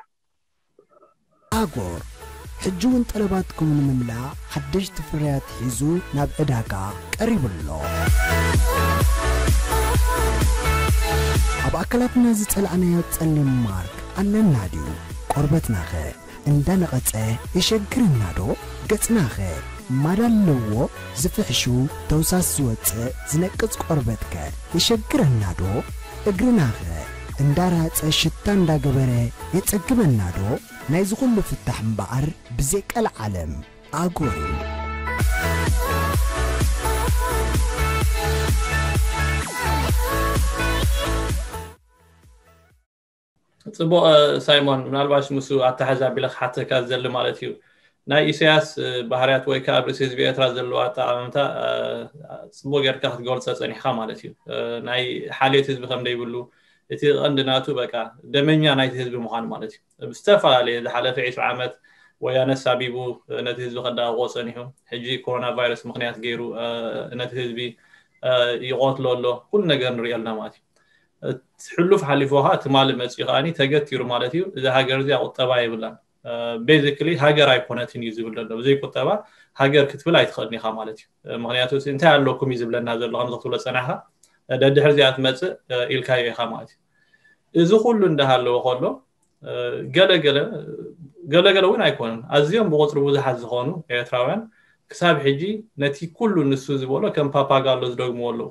ኣጎር ሕጂ እውን ጠለባትኩም ንምምላእ ሓደሽቲ ፍርያት ሒዙ ናብ ዕዳጋ ቀሪቡ ኣሎ። ኣብ ኣካላትና ዝጸላእናዮ ጸሊም ማርክ ኣለና ድዩ? ቆርበትናኸ እንዳነቐጸ የሸግረና ዶ? ገጽናኸ ማዳ ኣለዎ? ዝፍሕሹ ተውሳስ ዝወጽእ ዝነቅጽ ቆርበትከ የሸግረና ዶ? እግርናኸ እንዳራጸ ሽታ እንዳገበረ የጸግበና ዶ? ናይዚ ኩሉ ፍታሕ እምበኣር ብዘይ ቀልዓለም ኣጎር እዩ። ፅቡቅ ሳይሞን ምናልባሽ ምስ ኣተሓዛ ቢለ ክሓተካ ዝደሊ ማለት እዩ ናይ ኢሳያስ ባህርያት ወይ ከዓ ኣብ ርእሲ ህዝቢ ኤርትራ ዘለዎ ኣጠቃምታ ፅቡቅ ጌርካ ክትገልፆ ፀኒሕካ ማለት እዩ ናይ ሓልዮት ህዝቢ ከም ዘይብሉ እቲ ቀንዲ ናቱ በቃ ደመኛ ናይቲ ህዝቢ ምዃኑ ማለት እዩ ብዝተፈላለየ ዝሓለፈ ዕስራ ዓመት ወያነ ሳቢቡ ነቲ ህዝቢ ከዳቅቆ ፀኒሑ ሕጂ ኮሮና ቫይረስ ምክንያት ገይሩ ነቲ ህዝቢ ይቆትሎ ኣሎ ኩሉ ነገር ንሪኦ ኣለና ማለት እዩ ሕሉፍ ሓሊፉ ከዓ ትማሊ መፅኡ ከዓ ተገቲሩ ማለት እዩ እዛ ሃገር እዚኣ ቁጠባ የብላን basically ሃገር ኣይኮነትን እዩ ዝብል ዘሎ ብዘይ ቁጠባ ሃገር ክትብል ኣይትኽእልን ኢኻ ማለት እዩ ምክንያቱ እንታይ ኣለኩም እዩ ዝብለና ዘሎ ከምዚ ክትብሎ ፀናሕካ ደድሕር እዚኣ ትመፅእ ኢልካዮ ኢኻ ማለት እዩ እዚ ኩሉ እንዳሃለወ ከሎ ገለገለ ገለገለ እውን ኣይኮኑን ኣዝዮም ብቁፅሪ ብዙሓት ዝኾኑ ኤርትራውያን ክሳብ ሕጂ ነቲ ኩሉ ንሱ ዝበሎ ከም ፓፓጋሎ ዝደግምዎ ኣለዉ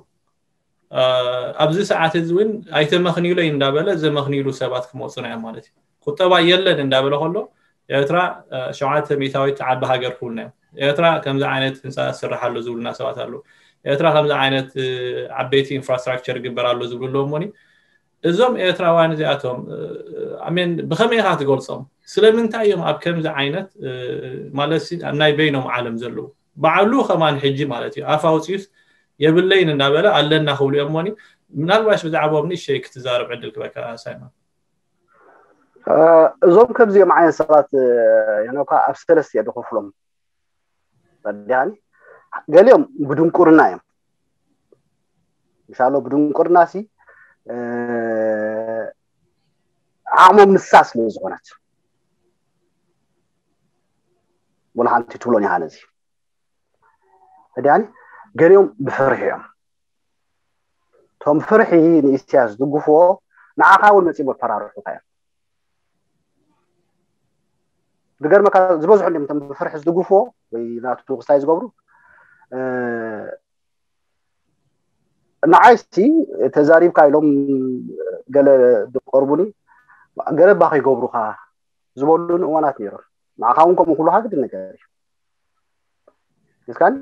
ኣብዚ ሰዓት እዚ እውን ኣይተመኽንዩለይ እንዳበለ ዘመኽንዩሉ ሰባት ክመፁ ናዮም ማለት እዩ ቁጠባ የለን እንዳበለ ከሎ ኤርትራ ሸውዓተ ሚእታዊት ዓቢ ሃገር ክብሉና እዮም ኤርትራ ከምዚ ዓይነት ህንፃ ዝስራሕ ኣሎ ዝብሉና ሰባት ኣለዉ ኤርትራ ከምዚ ዓይነት ዓበይቲ ኢንፍራስትራክቸር ይግበር ኣሎ ዝብሉ ኣለዉ እሞኒ እዞም ኤርትራውያን እዚኣቶም ኣሜን ብኸመይ ኢኻ ትገልጾም? ስለምንታይ እዮም ኣብ ከምዚ ዓይነት ማለት ኣብ ናይ በይኖም ዓለም ዘለዉ? ባዕሉ ከማን ሕጂ ማለት እዩ ኣፍ ኣውፅዩስ የብለይን እናበለ ኣለና ክብሉ እዮም ሞኒ። ምናልባሽ ብዛዕባኦም ንእሽተይ ክትዛረብ ዕድል ክበካ ሳይሞን። እዞም ከምዚኦም ዓይነት ሰባት ሄኖካ ኣብ ሰለስተ እየ ዝኸፍሎም። ፈዲሃኒ ገሊኦም ብድንቁርና እዮም። ምሻሎ ብድንቁርና ሲ ዓቕሞም ንሳ ስለ ዝኾነት ወላ ሓንቲ ትብሎን ይሃ ነዚ ፈዲሃኒ ገሊኦም ብፍርሒ እዮም። እቶም ፍርሒ ንኢሳያስ ዝድግፍዎ ንዓኻ እውን መፂኦም ኣፈራርሑካ እዮም። ዝገርመካ ዝበዝሑ እንዲም እቶም ብፍርሒ ዝድግፍዎ ወይ ናቱ ክስታይ ዝገብሩ ንዓይሲ ተዛሪብካ ኢሎም ገለ ዝቀርቡኒ ገለ ባኸ ይገብሩካ ዝበሉን እዋናት ነይሮም። ንዓኻ እውን ከምኡ ክብሉካ ግድን ነገር እዩ። እስካኒ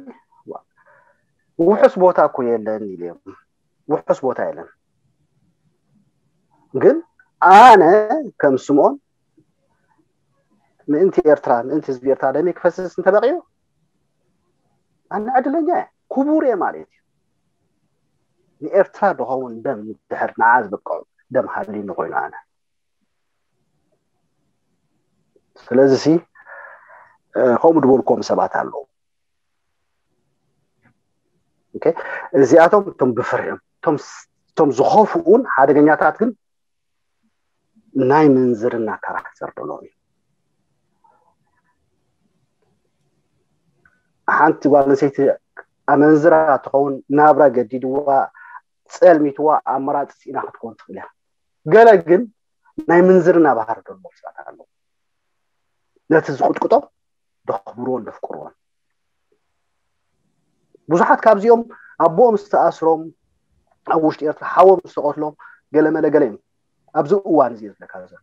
ውሑስ ቦታ እኮ የለን ኢልዮም። ውሑስ ቦታ የለን። ግን ኣነ ከም ስምኦን ምእንቲ ኤርትራ ምእንቲ ህዝቢ ኤርትራ ደመይ ክፈስስ እንተበቂዩ ኣነ ዕድለኛ እየ፣ ክቡር እየ ማለት እዩ። ንኤርትራ ዝኸውን ደም ድሕር ንዓ ዝበቅዑ ደም ሃልዩኒ ኮይኑ ኣነ ስለዚ ሲ ከምኡ ዝበልኩም ሰባት ኣለዉ። እዚኣቶም እቶም ብፍርሕም እቶም ዝኸፍኡን ሓደገኛታት ግን ናይ ምንዝርና ካራክተር ዘለዎም እዩ። ሓንቲ ጓል ኣንሰይቲ ኣመንዝራ ትኸውን ናብራ ገዲድዋ ጸልሚትዋ ኣመራፂ ኢና ክትኮን ትኽእል እያ። ገለ ግን ናይ ምንዝርና ባህሪ ዘለዎም ሰባት ኣለዉ። ነቲ ዝቕጥቅጦም ደኽብርዎን ደፍቅርዎን። ብዙሓት ካብዚኦም ኣቦኦም ዝተኣስሮም ኣብ ውሽጢ ኤርትራ ሓዎም ዝተቐትሎም ገለመለ ገለ እዮም። ኣብዚ እዋን እዚ ዝለካ ዘሎ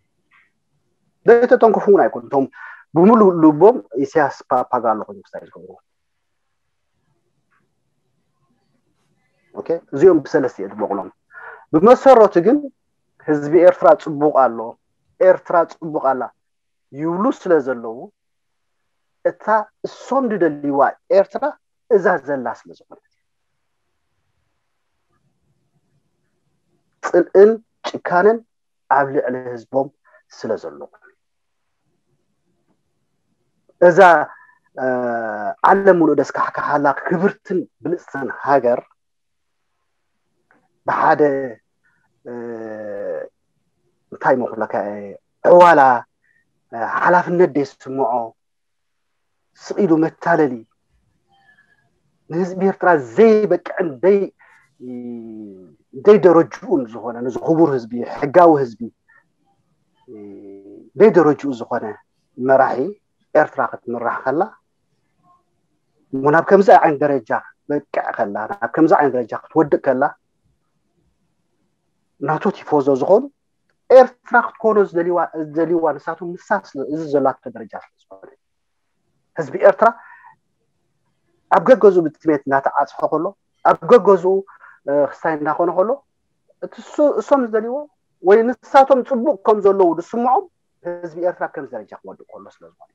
ዘይተተንክፉ እውን ኣይኮኑ እቶም ብምሉእ ልቦም ኢሳያስ ፓፓጋሎ ኮይኑ ክስታይ ዝገብሩ እዚኦም ብሰለስተ እየ ዝበቕሎም። ብመሰረቱ ግን ህዝቢ ኤርትራ ፅቡቕ ኣሎ፣ ኤርትራ ፅቡቕ ኣላ ይብሉ ስለ ዘለዉ እታ እሶም ዝደልይዋ ኤርትራ እዛ ዘላ ስለ ዝኾነት ጽልእን ጭካነን ኣብ ልዕሊ ህዝቦም ስለ ዘለዉ እዛ ዓለም ሙሉእ ደስካሕካሓላ ክብርትን ብልፅትን ሃገር ብሓደ እንታይ መኹለካ ዕዋላ ሓላፍነት ደይስምዖ ስቕ ኢሉ መታለሊ ንህዝቢ ኤርትራ ዘይበቅዕን ደይ ደረጅኡን ዝኾነ ነዚ ክቡር ህዝቢ ሕጋዊ ህዝቢ ደይ ደረጅኡ ዝኾነ መራሒ ኤርትራ ክትምራሕ ከላ እሞ ናብ ከምዚ ዓይነት ደረጃ ክትበቅዕ ከላ ናብ ከምዚ ዓይነት ደረጃ ክትወድቅ ከላ ናቱ ቲፎዞ ዝኾኑ ኤርትራ ክትኮኖ ዝደልይዋ ንሳቶም ንሳ እዚ ዘላቶ ደረጃ ስለ ዝኾነ ህዝቢ ኤርትራ ኣብ ገገዝኡ ብጥሜት እናተዓፅሐ ከሎ ኣብ ገገዝኡ ክስታይ እናኾነ ከሎ እቲ እሶም ዝደልይዎ ወይ ንሳቶም ፅቡቕ ከም ዘለዉ ዝስምዖም ህዝቢ ኤርትራ ኣብ ከምዚ ደረጃ ክወድቅ ከሎ ስለ ዝኾነ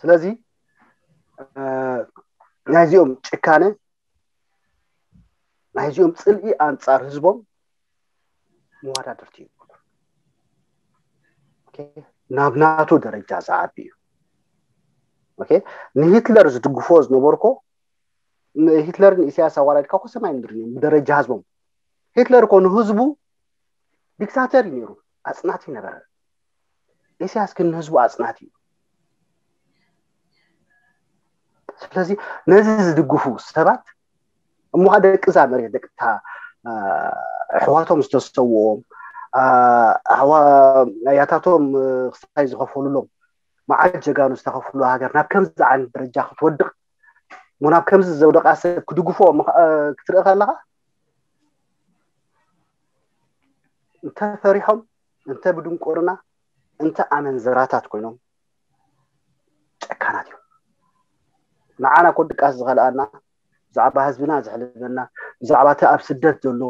ስለዚ ናይዚኦም ጭካነ ናይዚኦም ፅልኢ ኣንፃር ህዝቦም መዋዳድርቲ ይብሉ ናብ ናቱ ደረጃ ዝዓቢ እዩ ንሂትለር ዝድግፎ ዝነበርኮ ሂትለርን ኢሳያስ ኣዋላድካ ኮ ሰማይ ምድሪ እዮም ብደረጃ ህዝቦም ሂትለር ኮ ንህዝቡ ዲክታተር እዩ ነይሩ ኣፅናቲ ነበረ ኢሳያስ ግን ንህዝቡ ኣፅናቲ እዩ ስለዚ ነዚ ዝድግፉ ሰባት እሞ ደቂ እዛ መሬት ደቂ ኣሕዋቶም ዝተሰውኦም ኣያታቶም ክስታይ ዝኸፈሉሎም መዓት ጀጋኑ ዝተኸፍሉ ሃገር ናብ ከምዚ ዓይነት ደረጃ ክትወድቕ እሞ ናብ ከምዚ ዘውደቃ ሰብ ክድግፎ ክትርኢ ከለኻ እንተ ፈሪሖም እንተ ብድንቁርና እንተ ኣመንዝራታት ኮይኖም ጨካናት እዮም ንዓና ኮ ድቃስ ዝኸልኣና ብዛዕባ ህዝብና ዘሕልፈና ብዛዕባ እቲ ኣብ ስደት ዘሎ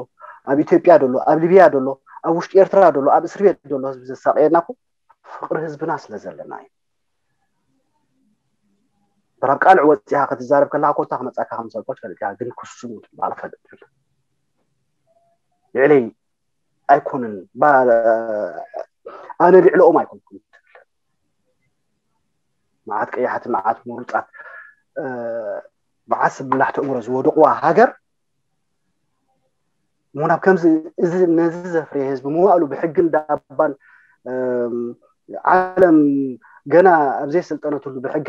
ኣብ ኢትዮጵያ ደሎ፣ ኣብ ሊብያ ደሎ፣ ኣብ ውሽጢ ኤርትራ ደሎ፣ ኣብ እስር ቤት ደሎ ህዝቢ ዘሳቀየና እኮ ፍቅሪ ህዝብና ስለ ዘለና እዩ። በራብ ቃልዕ ወፂኻ ክትዛረብ ከለካ ኮታ ክመፃካ ከም ሰልኮች ፈልጥካ ግን ክሱም ትበሃል ፈልጥ ትብል። ልዕለይ ኣይኮንን፣ ኣነ ልዕለኦም ኣይኮንኩን ትብል። መዓት ቀያሕቲ፣ መዓት ምሩፃት፣ መዓት ስብላሕቲ እምሮ ዝወደቕዋ ሃገር እሞ ናብ ከምዚ፣ እዚ ነዚ ዘፍርየ ህዝቢ መዋእሉ ብሕጊ እንዳባን ዓለም ገና ኣብ ዘይሰልጠነትሉ ብሕጊ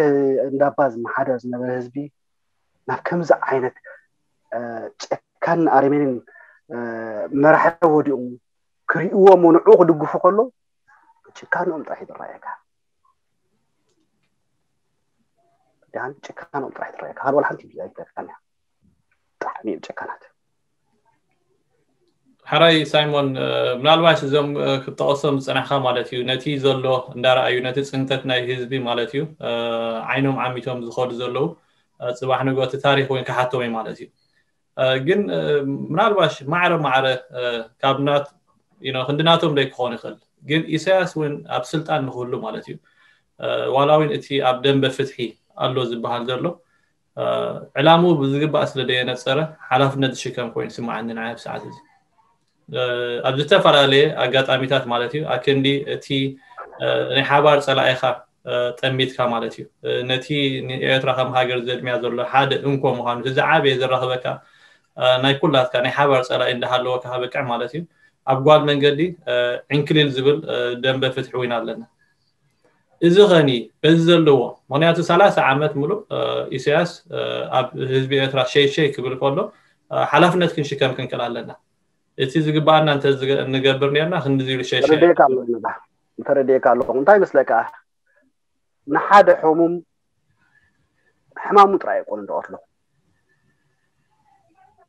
እንዳባ ዝመሓደር ዝነበረ ህዝቢ ናብ ከምዚ ዓይነት ጨካን ኣረሜንን መራሒ ወዲቑ ክርእይዎ፣ ንዕኡ ክድግፉ ከሎ ጭካንኦም ጥራሕ ይረኣየካ። ዳን ጭካንኦም ጥራሕ ይረኣየካ። ካልእ ወላ ሓንቲ ኣይትረኣየካን እያ። ብጣዕሚ እዮም ጨካናት። ሕራይ ሳይሞን፣ ምናልባሽ እዞም ክጠቐሶም ዝፅናሕካ ማለት እዩ፣ ነቲ ዘሎ እንዳረኣዩ፣ ነቲ ፅንተት ናይ ህዝቢ ማለት እዩ፣ ዓይኖም ዓሚቶም ዝኸዱ ዘለዉ፣ ፅባሕ ንግሆ እቲ ታሪኽ እውን ክሓቶም እዩ ማለት እዩ። ግን ምናልባሽ ማዕረ ማዕረ ካብ ናት ክንዲ ናቶም ደይ ክኾን ይኽእል፣ ግን ኢሳያስ እውን ኣብ ስልጣን ንክህሉ ማለት እዩ። ዋላ እውን እቲ ኣብ ደንበ ፍትሒ ኣሎ ዝበሃል ዘሎ ዕላምኡ ብዝግባእ ስለ ደየነፀረ ሓላፍነት ዝሽከም ኮይኑ ይስምዓኒ ንዓይ ኣብ ሰዓት እዚ። ኣብ ዝተፈላለየ ኣጋጣሚታት ማለት እዩ፣ ኣክንዲ እቲ ናይ ሓባር ፀላኢኻ ጠሚትካ ማለት እዩ። ነቲ ንኤርትራ ከም ሃገር ዘድምያ ዘሎ ሓደ እንኮ ምዃኑ፣ እቲ ዝዓበየ ዘራኽበካ ናይ ኩላትካ ናይ ሓባር ፀላኢ እንዳሃለወካ ከበቅዕ ማለት እዩ። ኣብ ጓል መንገዲ ዕንክሊል ዝብል ደንበ ፍትሒ ዊና ኣለና። እዚ ኸኒ በዚ ዘለዎ፣ ምክንያቱ ሰላሳ ዓመት ሙሉእ ኢሳያስ ኣብ ህዝቢ ኤርትራ ሸይ ሸይ ክብል ከሎ ሓላፍነት ክንሽከም ክንክእል ኣለና። እቲ ዝግባኣና እንተ ንገብር ነርና ክንዲ ዝብል ሸይ ሸይ ተረዲእካ ኣለኹ። እንታይ ይመስለካ? ንሓደ ሕሙም ሕማሙ ጥራይ ኣይኮነ ዝቐትሎ።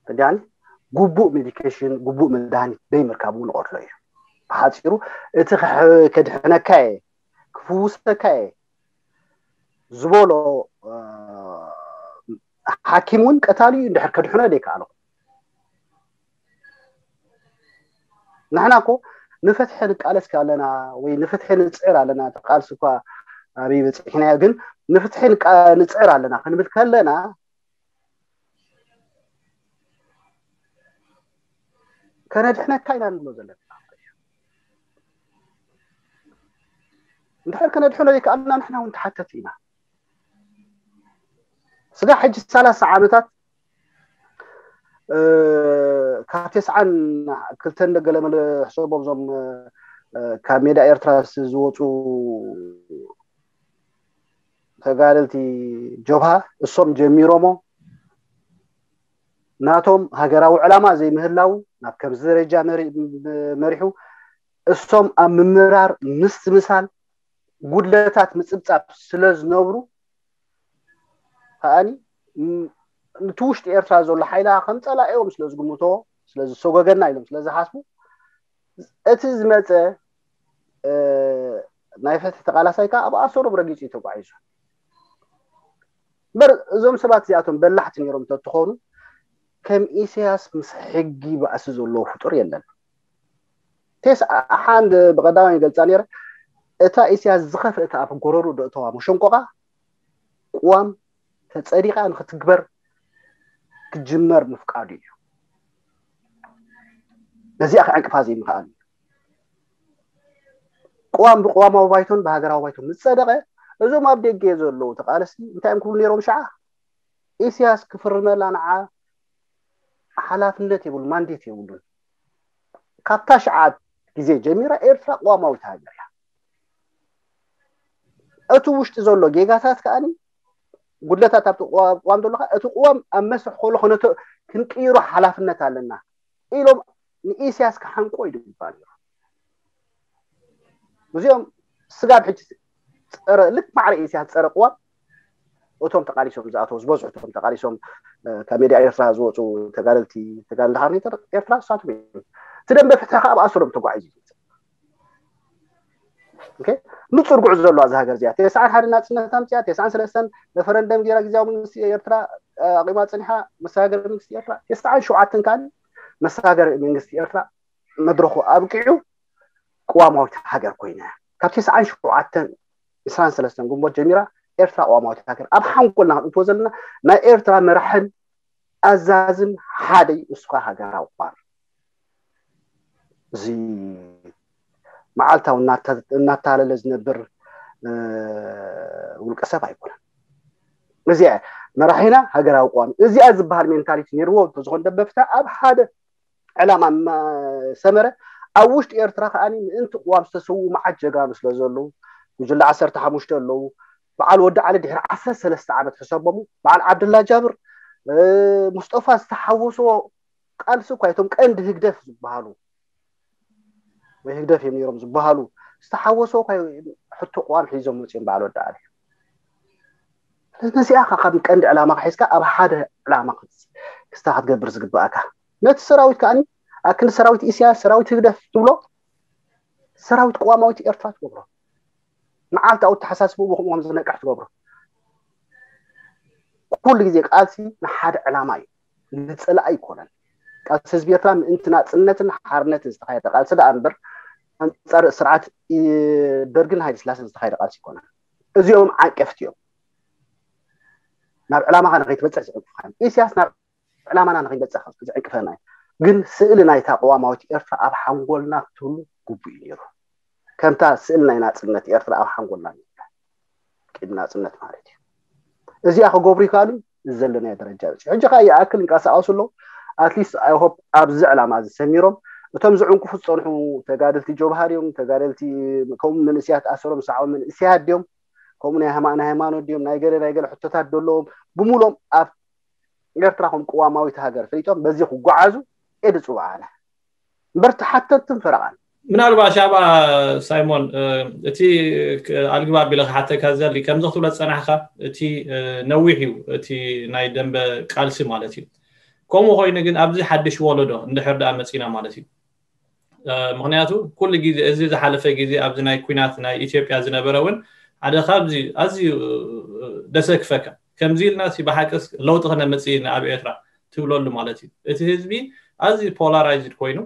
ተጃኒ ግቡእ ሜዲኬሽን፣ ግቡእ መድሃኒት ደይ ምርካብ እውን ይቐትሎ እዩ። ብሓፂሩ እቲ ከድሕነካ እየ፣ ክፍውሰካ እየ ዝበሎ ሓኪም እውን ቀታሊ እዩ። እንድሕር ከድሕኖ ደይከኣሎ ንሕና እኮ ንፍትሒ ንቃለስ ኣለና ወይ ንፍትሒ ንፅዕር ኣለና። እቲ ቃልሲ እኳ ኣበይ በፂሕናዮ፣ ግን ንፍትሒ ንፅዕር ኣለና ክንብል ከለና ከነድሕነካ ኢና ንብሎ ዘለና። እንድሕር ከነድሕኖ ዘይከኣልና ንሕና እውን ተሓተቲ ኢና። ስጋ ሕጂ ሰላሳ ዓመታት ካብ ተስዓን ክልተን ገለመለ ሕሰቦም እዞም ካብ ሜዳ ኤርትራ ዝወፁ ተጋደልቲ ጀብሃ እሶም ጀሚሮሞ ናቶም ሃገራዊ ዕላማ ዘይምህላው ናብ ከምዚ ደረጃ መሪሑ እሶም ኣብ ምምራር ምስትምሳል ጉድለታት ምፅብፃብ ስለ ዝነብሩ ከኣኒ ንቲ ውሽጢ ኤርትራ ዘሎ ሓይላ ከም ፀላኢኦም ስለ ዝግምቶ ስለ ዝሰጎገና ኢሎም ስለ ዝሓስቡ እቲ ዝመፀ ናይ ፍትሒ ተቃላሳይ ከዓ ኣብ ኣሰሮም ረጊፁ እዩ ተጓዒዙ። እምበር እዞም ሰባት እዚኣቶም በላሕቲ ነይሮም እንተትኾኑ ከም ኢሳያስ ምስ ሕጊ ባእሲ ዘለዎ ፍጡር የለን። ቴስ ሓንድ ብቀዳማይ ይገልፃ ነይረ እታ ኢሳያስ ዝኸፍእታ ኣብ ጎረሩ ደእተዋ መሸንቆቃ ቅዋም ተፀዲቃ ንክትግበር ክጅመር ምፍቃዱ እዩ። ነዚኣ ክዕንቅፋ ዘይምኽኣል እዩ። ቅዋም ብቅዋማዊ ባይቶን ብሃገራዊ ባይቶን ምስ ፀደቐ እዞም ኣብ ደገ ዘለዉ ተቃለስቲ እንታይ እዮም ክብሉ ነይሮም? ሸዓ ኢሳያስ ክፍርመላ ንዓ ሓላፍነት የብሉ ማንዴት የብሉን። ካብታ ሸዓ ግዜ ጀሚራ ኤርትራ ቅዋማዊት ሃገር እያ። እቲ ውሽጢ ዘሎ ጌጋታት ከኣኒ ጉድለታት ኣብቲ ቅዋም ዘሎ እቲ ቅዋም ኣብ መስርሕ ከሎ ክንቅይሮ ሓላፍነት ኣለና ኢሎም ንኢሳያስ ክሓንቆ ይድባ ነይሩ። እዚኦም ስጋብ ሕጂ ፀረ ልክ ማዕረ ኢሳያስ ፀረ ቅዋም እቶም ተቃሊሶም ዝኣተው ዝበዝሑ እቶም ተቃሊሶም ካብ ሜዳ ኤርትራ ዝወፁ ተጋደልቲ ተጋደልቲ ሓርነት ኤርትራ እሳቶም እዮም። እቲ ደንበ ፍትሒ ከዓ ብኣሰሮም ተጓዒዙ ንፁር ጉዕዞ ዘለዋ እዛ ሃገር እዚኣ። ተስዓን ሓደ ናፅነት ኣምፅያ፣ ተስዓን ሰለስተን ረፈረንደም ገይራ ግዜያዊ መንግስቲ ኤርትራ ኣቂማ ፅኒሓ ምስ ሃገር መንግስቲ ኤርትራ፣ ተስዓን ሸውዓተን ካሊ መሰጋገሪ መንግስቲ ኤርትራ መድረኹ ኣብቂዑ ቅዋማዊት ሃገር ኮይና እያ። ካብ ተስዓን ሸውዓተን ዕስራን ሰለስተን ግንቦት ጀሚራ ኤርትራ ቅዋማዊት ሃገር ኣብ ሓንጎልና ክንእትዎ ዘለና ናይ ኤርትራ መራሕን ኣዛዝን ሓደ እዩ፣ እሱ ከዓ ሃገራዊ ቅዋም። እዚ መዓልታዊ እናተ- እናተሃለለ ዝነብር እ፣ ውልቀ ሰብ ኣይኮነን። እዚኣ መራሒና ሃገራዊ ቅዋም እዚኣ ዝበሃል ሜንታሊቲ ነይርዎ እንተዝኾን ደበፍታ ኣብ ሓደ ዕላማ ሰመረ ኣብ ውሽጢ ኤርትራ ከዓኒ ምእንቲ ቅዋም ዝተሰውኡ መዓት ጀጋኑ ስለ ዘለዉ ጉጅለ ዓሰርተ ሓሙሽተ ኣለዉ። በዓል ወዲ ዓሊ ድሕሪ ዓሰርተ ሰለስተ ዓመት ሕሰቦሙ በዓል ዓብደላ ጃብር እ፣ ሙስጠፋ ዝተሓወሶ ቃልሲ እኳ እቶም ቀንዲ ህግደፍ ዝበሃሉ ወይ ህግደፍ እዮም ነይሮም ዝበሃሉ ዝተሓወሶ እኳ ሕቶ ቅዋም ሒዞም መፅኦም በዓል ወዲ ዓሊ። ነዚኣ ካብ ቀንዲ ዕላማ ሒዝካ ኣብ ሓደ ዕላማ ክስታ ክትገብር ዝግባእካ ነቲ ሰራዊት ከዓኒ ኣክንዲ ሰራዊት ኢሳያስ ሰራዊት ህግደፍ ትብሎ ሰራዊት ቅዋማዊት ኤርትራ ትገብሮ መዓልታዊ ተሓሳስብኡ ብከምኡ ከም ዝነቅሕ ትገብሮ ኩሉ ግዜ ቃልሲ ንሓደ ዕላማ እዩ ንፅላእ ኣይኮነን ቃልሲ ህዝቢ ኤርትራ ምእንቲ ናፅነትን ሓርነትን ዝተካየደ ቃልሲ ደኣ እምበር ኣንፃር ስርዓት ደርግን ሃይለ ስላሰን ዝተካየደ ቃልሲ ይኮነን እዚኦም ዓንቀፍቲ እዮም ናብ ዕላማኻ ንከይትበፅሕ ዝዕንቅፍካ እዮም ኢሳያስ ናብ ዕላማና ንከይበፅሕ ዝዕንቅፈና እዩ ግን ስእሊ ናይታ ቅዋማዊት ኤርትራ ኣብ ሓንጎልና ክትህሉ ግቡእ እዩ ነይሩ ከምታ ስእሊ ናይ ናፅነት ኤርትራ ኣብ ሓንጎልና ቂድ ናፅነት ማለት እዩ እዚኣ ክገብሩ ይከኣሉ ዘለናዮ ደረጃ በፂሑ ሕጂ ከዓ ይኣክል ይንቀሳቀሱ ኣለዉ ኣትሊስት ኣይሆፕ ኣብዚ ዕላማ እዚ ሰሚሮም እቶም ዝዕንቅፉ ዝፀንሑ ተጋደልቲ ጀብሃር እዮም ተጋደልቲ ከምኡ መንእስያት ኣሰሮም ዝሰዓቡ መንእስያት ድዮም ከምኡ ናይ ሃይማ- ናይ ሃይማኖት ድዮም ናይ ገለ ናይ ገለ ሕቶታት ዘለዎም ብምሎም ኣብ ኤርትራ ከም ቅዋማዊት ሃገር ፈሊጦም በዚ ክጓዓዙ እየ ዝፅውዓ ኣነ እምበር ተሓተትትን ፈረቓን ምናልባሽ ኣብኣ ሳይሞን እቲ ኣልግባብ ኢለ ክሓተካ ዘሊ ከምዚ ክትብሎ ዝፀናሕካ እቲ ነዊሕ እዩ እቲ ናይ ደንበ ቃልሲ ማለት እዩ ከምኡ ኮይኑ ግን ኣብዚ ሓድሽ ወለዶ እንድሕር ደኣ መፂና ማለት እዩ ምክንያቱ ኩሉ ግዜ እዚ ዝሓለፈ ግዜ ኣብዚ ናይ ኩናት ናይ ኢትዮጵያ ዝነበረ እውን ሓደ ካብዚ ኣዝዩ ደሰክፈካ ከምዚ ኢልና ብሓቂ ለውጢ ክነምፅእ ኢና ኣብ ኤርትራ ትብለሉ ማለት እዩ እቲ ህዝቢ ኣዝዩ ፖላራይዝድ ኮይኑ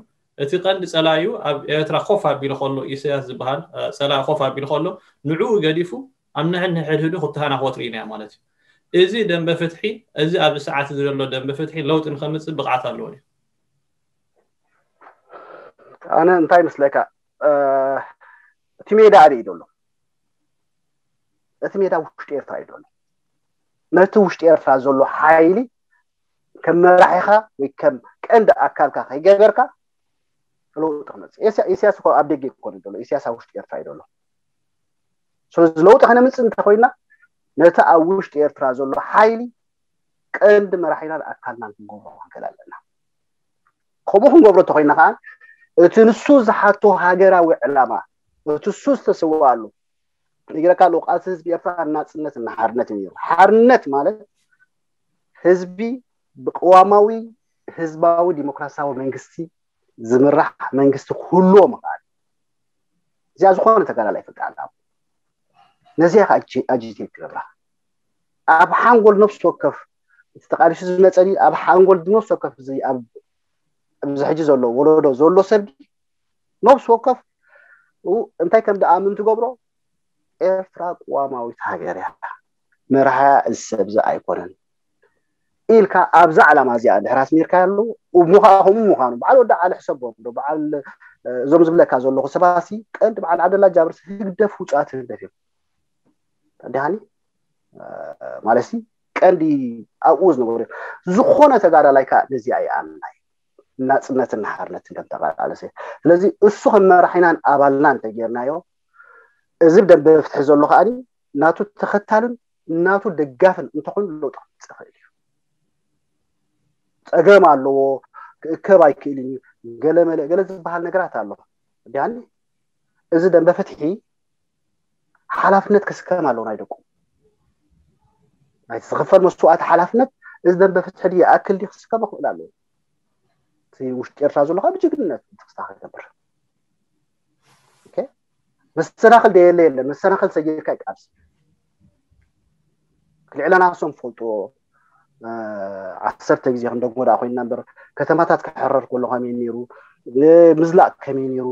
እቲ ቀንዲ ፀላዩ ኣብ ኤርትራ ኮፍ ኣቢሉ ከሎ ኢሳያስ ዝበሃል ፀላኢ ኮፍ ኣቢሉ ከሎ ንዕኡ ገዲፉ ኣብ ንሕድ ንሕድሕዱ ክተሃናኸወት ርኢናዮ ማለት እዩ እዚ ደንበ ፍትሒ እዚ ኣብዚ ሰዓት ዘሎ ደንበ ፍትሒ ለውጢ ንከምፅእ ብቕዓት ኣለዎ ድዩ ኣነ እንታይ ይመስለካ እቲ ሜዳ ኣበይ እዩ ዘሎ እቲ ሜዳ ውሽጢ ኤርትራ እዩ ዘሎ ነቲ ውሽጢ ኤርትራ ዘሎ ሓይሊ ከም መራሒኻ ወይ ከም ቀንዲ ኣካልካ ከይገበርካ ለውጢ ክመፅእ ኢሳያስ እኮ ኣብ ደገ ይኮነ ዘሎ ኢሳያስ ኣብ ውሽጢ ኤርትራ እዩ ዘሎ ስለዚ ለውጢ ከነምፅእ እንተኮይና ነቲ ኣብ ውሽጢ ኤርትራ ዘሎ ሓይሊ ቀንዲ መራሒናን ኣካልናን ክንገብሮ ክንክእል ኣለና ከምኡ ክንገብሮ እንተኮይና ከዓ እቲ ንሱ ዝሓቶ ሃገራዊ ዕላማ እቲ እሱ ዝተሰዋኣሉ ይግረካ ኣለዉ ቃልሲ ህዝቢ ኤርትራ ናፅነት እና ሓርነት እዩ ነይሩ ሓርነት ማለት ህዝቢ ብቅዋማዊ ህዝባዊ ዲሞክራሲያዊ መንግስቲ ዝምራሕ መንግስቲ ክህልዎ ምኽኣል እዚኣ ዝኾነ ተጋዳላይ ፍቃድ ኣብ ነዚኣ ከዓ ኣጂቴት ክገብራ ኣብ ሓንጎል ነፍሲ ወከፍ እቲ ተቃሊሱ ዝመፀኒ ኣብ ሓንጎል ነፍሲ ወከፍ ኣብዚ ሕጂ ዘሎ ወለዶ ዘሎ ሰብ ነብሲ ወከፍ እንታይ ከም ደኣ ምን ትገብሮ ኤርትራ ቅዋማዊት ሃገር እያ መርሓያ እዚ ሰብ እዚ ኣይኮነን ኢልካ ኣብዛ ዕላማ እዚኣ ድሕር ኣስሚርካ ኣለዉ እሞ ከዓ ከምኡ ምዃኑ በዓል ወዲ ዓሊ ሕሰቦም ዶ በዓል እዞም ዝብለካ ዘለኹ ሰባሲ ቀንዲ በዓል ዓብደላ ጃብርስ ህግደፍ ውፃት ህግደፍ እዮም ዲሃኒ ማለት ቀንዲ ኣብኡ ዝነበሩ እዮም ዝኾነ ተጋዳላይ ከዓ ነዚኣ ይኣምና እዩ ናፅነትን ሓርነትን ከም ተቃላልሰ ስለዚ እሱ ከም መራሒናን ኣባልናን እንተጌርናዮ እዚ ብደንበ ፍትሒ ዘሎ ከዓ ናቱ ተኸታልን ናቱ ደጋፍን እንተኾይኑ ለውጢ ክመፅእ ይኽእል እዩ ፀገም ኣለዎ ክእከብ ኣይክእልን እዩ ገለመለ ገለ ዝበሃል ነገራት ኣሎ ዲያኒ እዚ ደንበ ፍትሒ ሓላፍነት ክስከም ኣለዎ ናይ ደቁ ናይቲ ዝኽፈል መስዋእቲ ሓላፍነት እዚ ደንበ ፍትሒ ድዩ ይኣክል ድዩ ክስከም ክኽእል ኣለዎ እቲ ውሽጢ ኤርትራ ዘሎ ካብ ጅግንነት ክስታ ክገብር መሰናኽል ደየለ የለን መሰናኽል ሰጊርካ ይቃልስ ልዕለና ሶም ፈልጥዎ ዓሰርተ ግዜ ክንደግሞ ደኣ ኮይንና እምበር፣ ከተማታት ክሕረር ከሎ ከመይ ነይሩ፣ ምዝላቕ ከመይ ነይሩ፣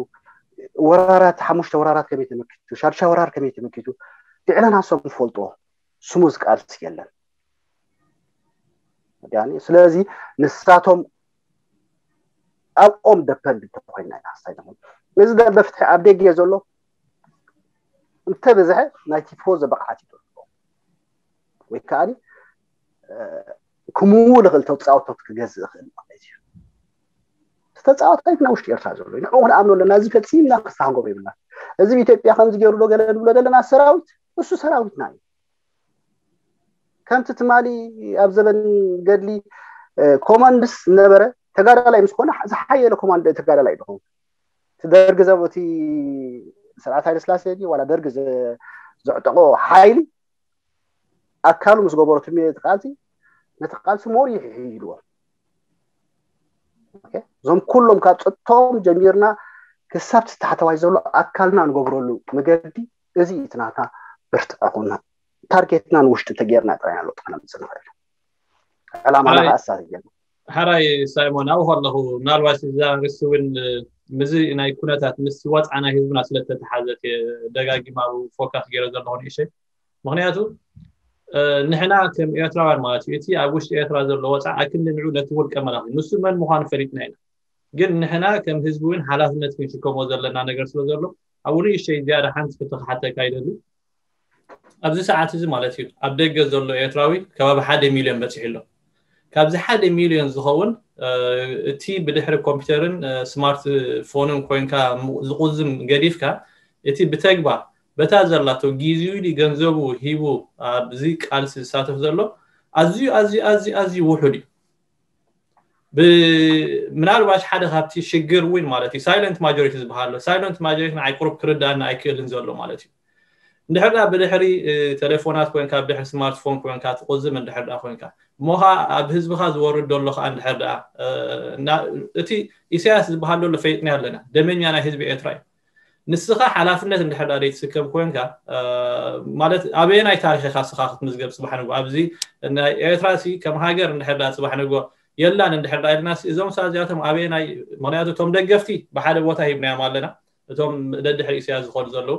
ወራራት፣ ሓሙሽተ ወራራት ከመይ ተመኪቱ፣ ሻድሻ ወራር ከመይ ተመኪቱ፣ ብዕለናሶም ዝፈልጥዎ ስሙዝ ቃልሲ የለን። ስለዚ ንሳቶም ኣብኦም ደፐንድ እንተኮይና ኢና ሓሳይ ንኹን። እዚ ደንበ ፍትሒ ኣብ ደገ ዘሎ እንተበዝሐ ናይ ቲፎዞ ብቕዓት እዩ ዘለዎ፣ ወይ ከዓ ክምው ልኽእል ተፃወቶት ክገዝእ ይኽእል ማለት እዩ። ተፃወታይ ናይ ውሽጢ ኤርትራ ዘሎ ንዕኡ ክንኣምኖ ኣለና። እዚ ፈፂምና ክስተሓጎም ይብልና። እዚ ብኢትዮጵያ ከምዚ ገይሩ ዶ ገለ ንብሎ ዘለና ሰራዊት እሱ ሰራዊትና እዩ። ከምቲ ትማሊ ኣብ ዘበን ገድሊ ኮማንድስ ነበረ ተጋዳላይ ምስ ኮነ ዝሓየለ ኮማንድ ተጋዳላይ ድኸውን። እቲ ደርግ ዘበቲ ስርዓት ሃይለ ስላሴ ዋላ ደርግ ዘዕጠቆ ሓይሊ ኣካሉ ምስ ገበረቱ ነቲ ቃልሲ ነቲ ቃልሲ ሞር ይሕይልዎ። እዞም ኩሎም ካብ ፀጥቶም ጀሚርና ክሳብ ታሕተዋይ ዘሎ ኣካልና ንገብረሉ መገዲ እዚ እቲ ናትና ብርትዐ ኩና ታርጌትና ንውሽጢ ተጌርና ጥራይ ኣለውጥ ክነምፅእ ንኽእል። ዕላማና ከኣ እሳ ተጌርና። ሓራይ ሳይሞን ኣብኡ ከለኹ ምናልባት እዛ ርሲ እውን ምስዚ ናይ ኩነታት ምስ ወፅዓ ናይ ህዝብና ስለተተሓዘት ደጋጊማ ኣብ ፎካስ ገይረ ዘለኹ ንእሸይ ምክንያቱ ንሕና ከም ኤርትራውያን ማለት እዩ እቲ ኣብ ውሽጢ ኤርትራ ዘሎ ወፃ ኣክንዲ ንዑ ነቲ ውልቀ መላኺ ንሱ መን ምዃኑ ፈሊጥና ኢና ግን ንሕና ከም ህዝቢ እውን ሓላፍነት ክንሽከሞ ዘለና ነገር ስለ ዘሎ ኣብኡ ንእሽተይ ዝያዳ ሓንቲ ክትክሓተካ ይደሊ ኣብዚ ሰዓት እዚ ማለት እዩ ኣብ ደገ ዘሎ ኤርትራዊ ከባቢ ሓደ ሚልዮን በፂሑ ኣሎ ካብዚ ሓደ ሚልዮን ዝኸውን እቲ ብድሕሪ ኮምፒውተርን ስማርት ፎንን ኮይንካ ዝቁዝም ገዲፍካ እቲ ብተግባር በታ ዘላቶ ግዚኡ ዲ ገንዘቡ ሂቡ ኣብዚ ቃልሲ ዝሳተፍ ዘሎ ኣዝዩ ኣዝዩ ኣዝዩ ኣዝዩ ውሑድ እዩ ምናልባሽ ሓደ ካብቲ ሽግር እውን ማለት እዩ ሳይለንት ማጆሪቲ ዝበሃል ኣሎ ሳይለንት ማጆሪቲ ንዓይ ቁሩብ ክርዳእና ኣይክእልን ዘሎ ማለት እዩ እንድሕር ዳ ብድሕሪ ቴሌፎናት ኮይንካ ብድሕሪ ስማርትፎን ኮይንካ ትቁዝም እንድሕር ዳ ኮይንካ እሞ ከዓ ኣብ ህዝብካ ዝወርድ ዘሎ ከዓ እንድሕር ዳ እቲ ኢሳያስ ዝበሃል ዘሎ ፈይጥና ኣለና ደመኛ ናይ ህዝቢ ኤርትራ እዩ ንስኻ ሓላፍነት እንድሕር ዳ ዘይትስከም ኮይንካ ማለት ኣበየናይ ታሪኽ ኢኻ ስኻ ክትምዝገብ ፅባሕ ንጎ ኣብዚ ናይ ኤርትራ ሲ ከም ሃገር እንድሕር ዳ ፅባሕ ንጎ የላን እንድሕር ዳ ኢልና እዞም ሳ እዚኣቶም ኣበየናይ ምክንያቱ እቶም ደገፍቲ ብሓደ ቦታ ሂብናዮም ኣለና እቶም ደድሕሪ ኢሳያስ ዝኸዱ ዘለዉ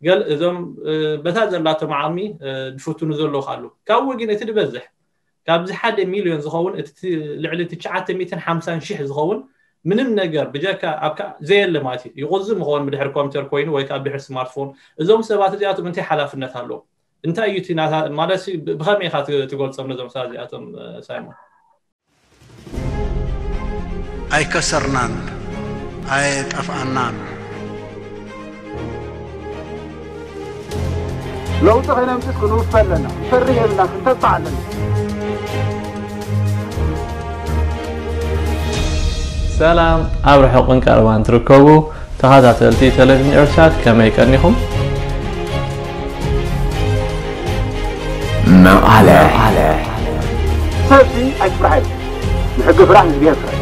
ገል እዞም በታ ዘላቶም ዓቕሚ ዝፍትኑ ዘለዉ ካሉ ካብኡ ግን እቲ ዝበዝሕ ካብዚ ሓደ ሚልዮን ዝኸውን እቲ ልዕሊ ትሽዓተ ሚእትን ሓምሳን ሽሕ ዝኸውን ምንም ነገር ብጀካ ኣብ ዘየለ ማለት እዩ ይቁዝም ይኸውን ብድሕሪ ኮምፒተር ኮይኑ ወይ ከዓ ብድሕሪ ስማርትፎን እዞም ሰባት እዚኣቶም እንታይ ሓላፍነት ኣለዎም እንታይ እዩ እቲ ናታ ማለት ሲ ብ- ብኸመይ ኢኻ ት- ትገልጾም ነዞም ሰባት እዚኣቶም እ፣ ሳይሞን? ኣይከሰርናን፣ ኣየጠፍኣናን። ለውጢ ከይነምፅስ ክንውፈ ኣለና። ፈርህ የብልና፣ ክንተስፋ ኣለና። ሰላም ኣብ ርሑቕን ቀረባን ትርከቡ ተኸታተልቲ ቴሌቪዥን ኤርትሳት ከመይ ቀኒኹም? መቐለ ሰልፊ ኣይትፍራሕ ኢሉ ንሕጊ ፍራሕ ንዝብሔር ፍራሕ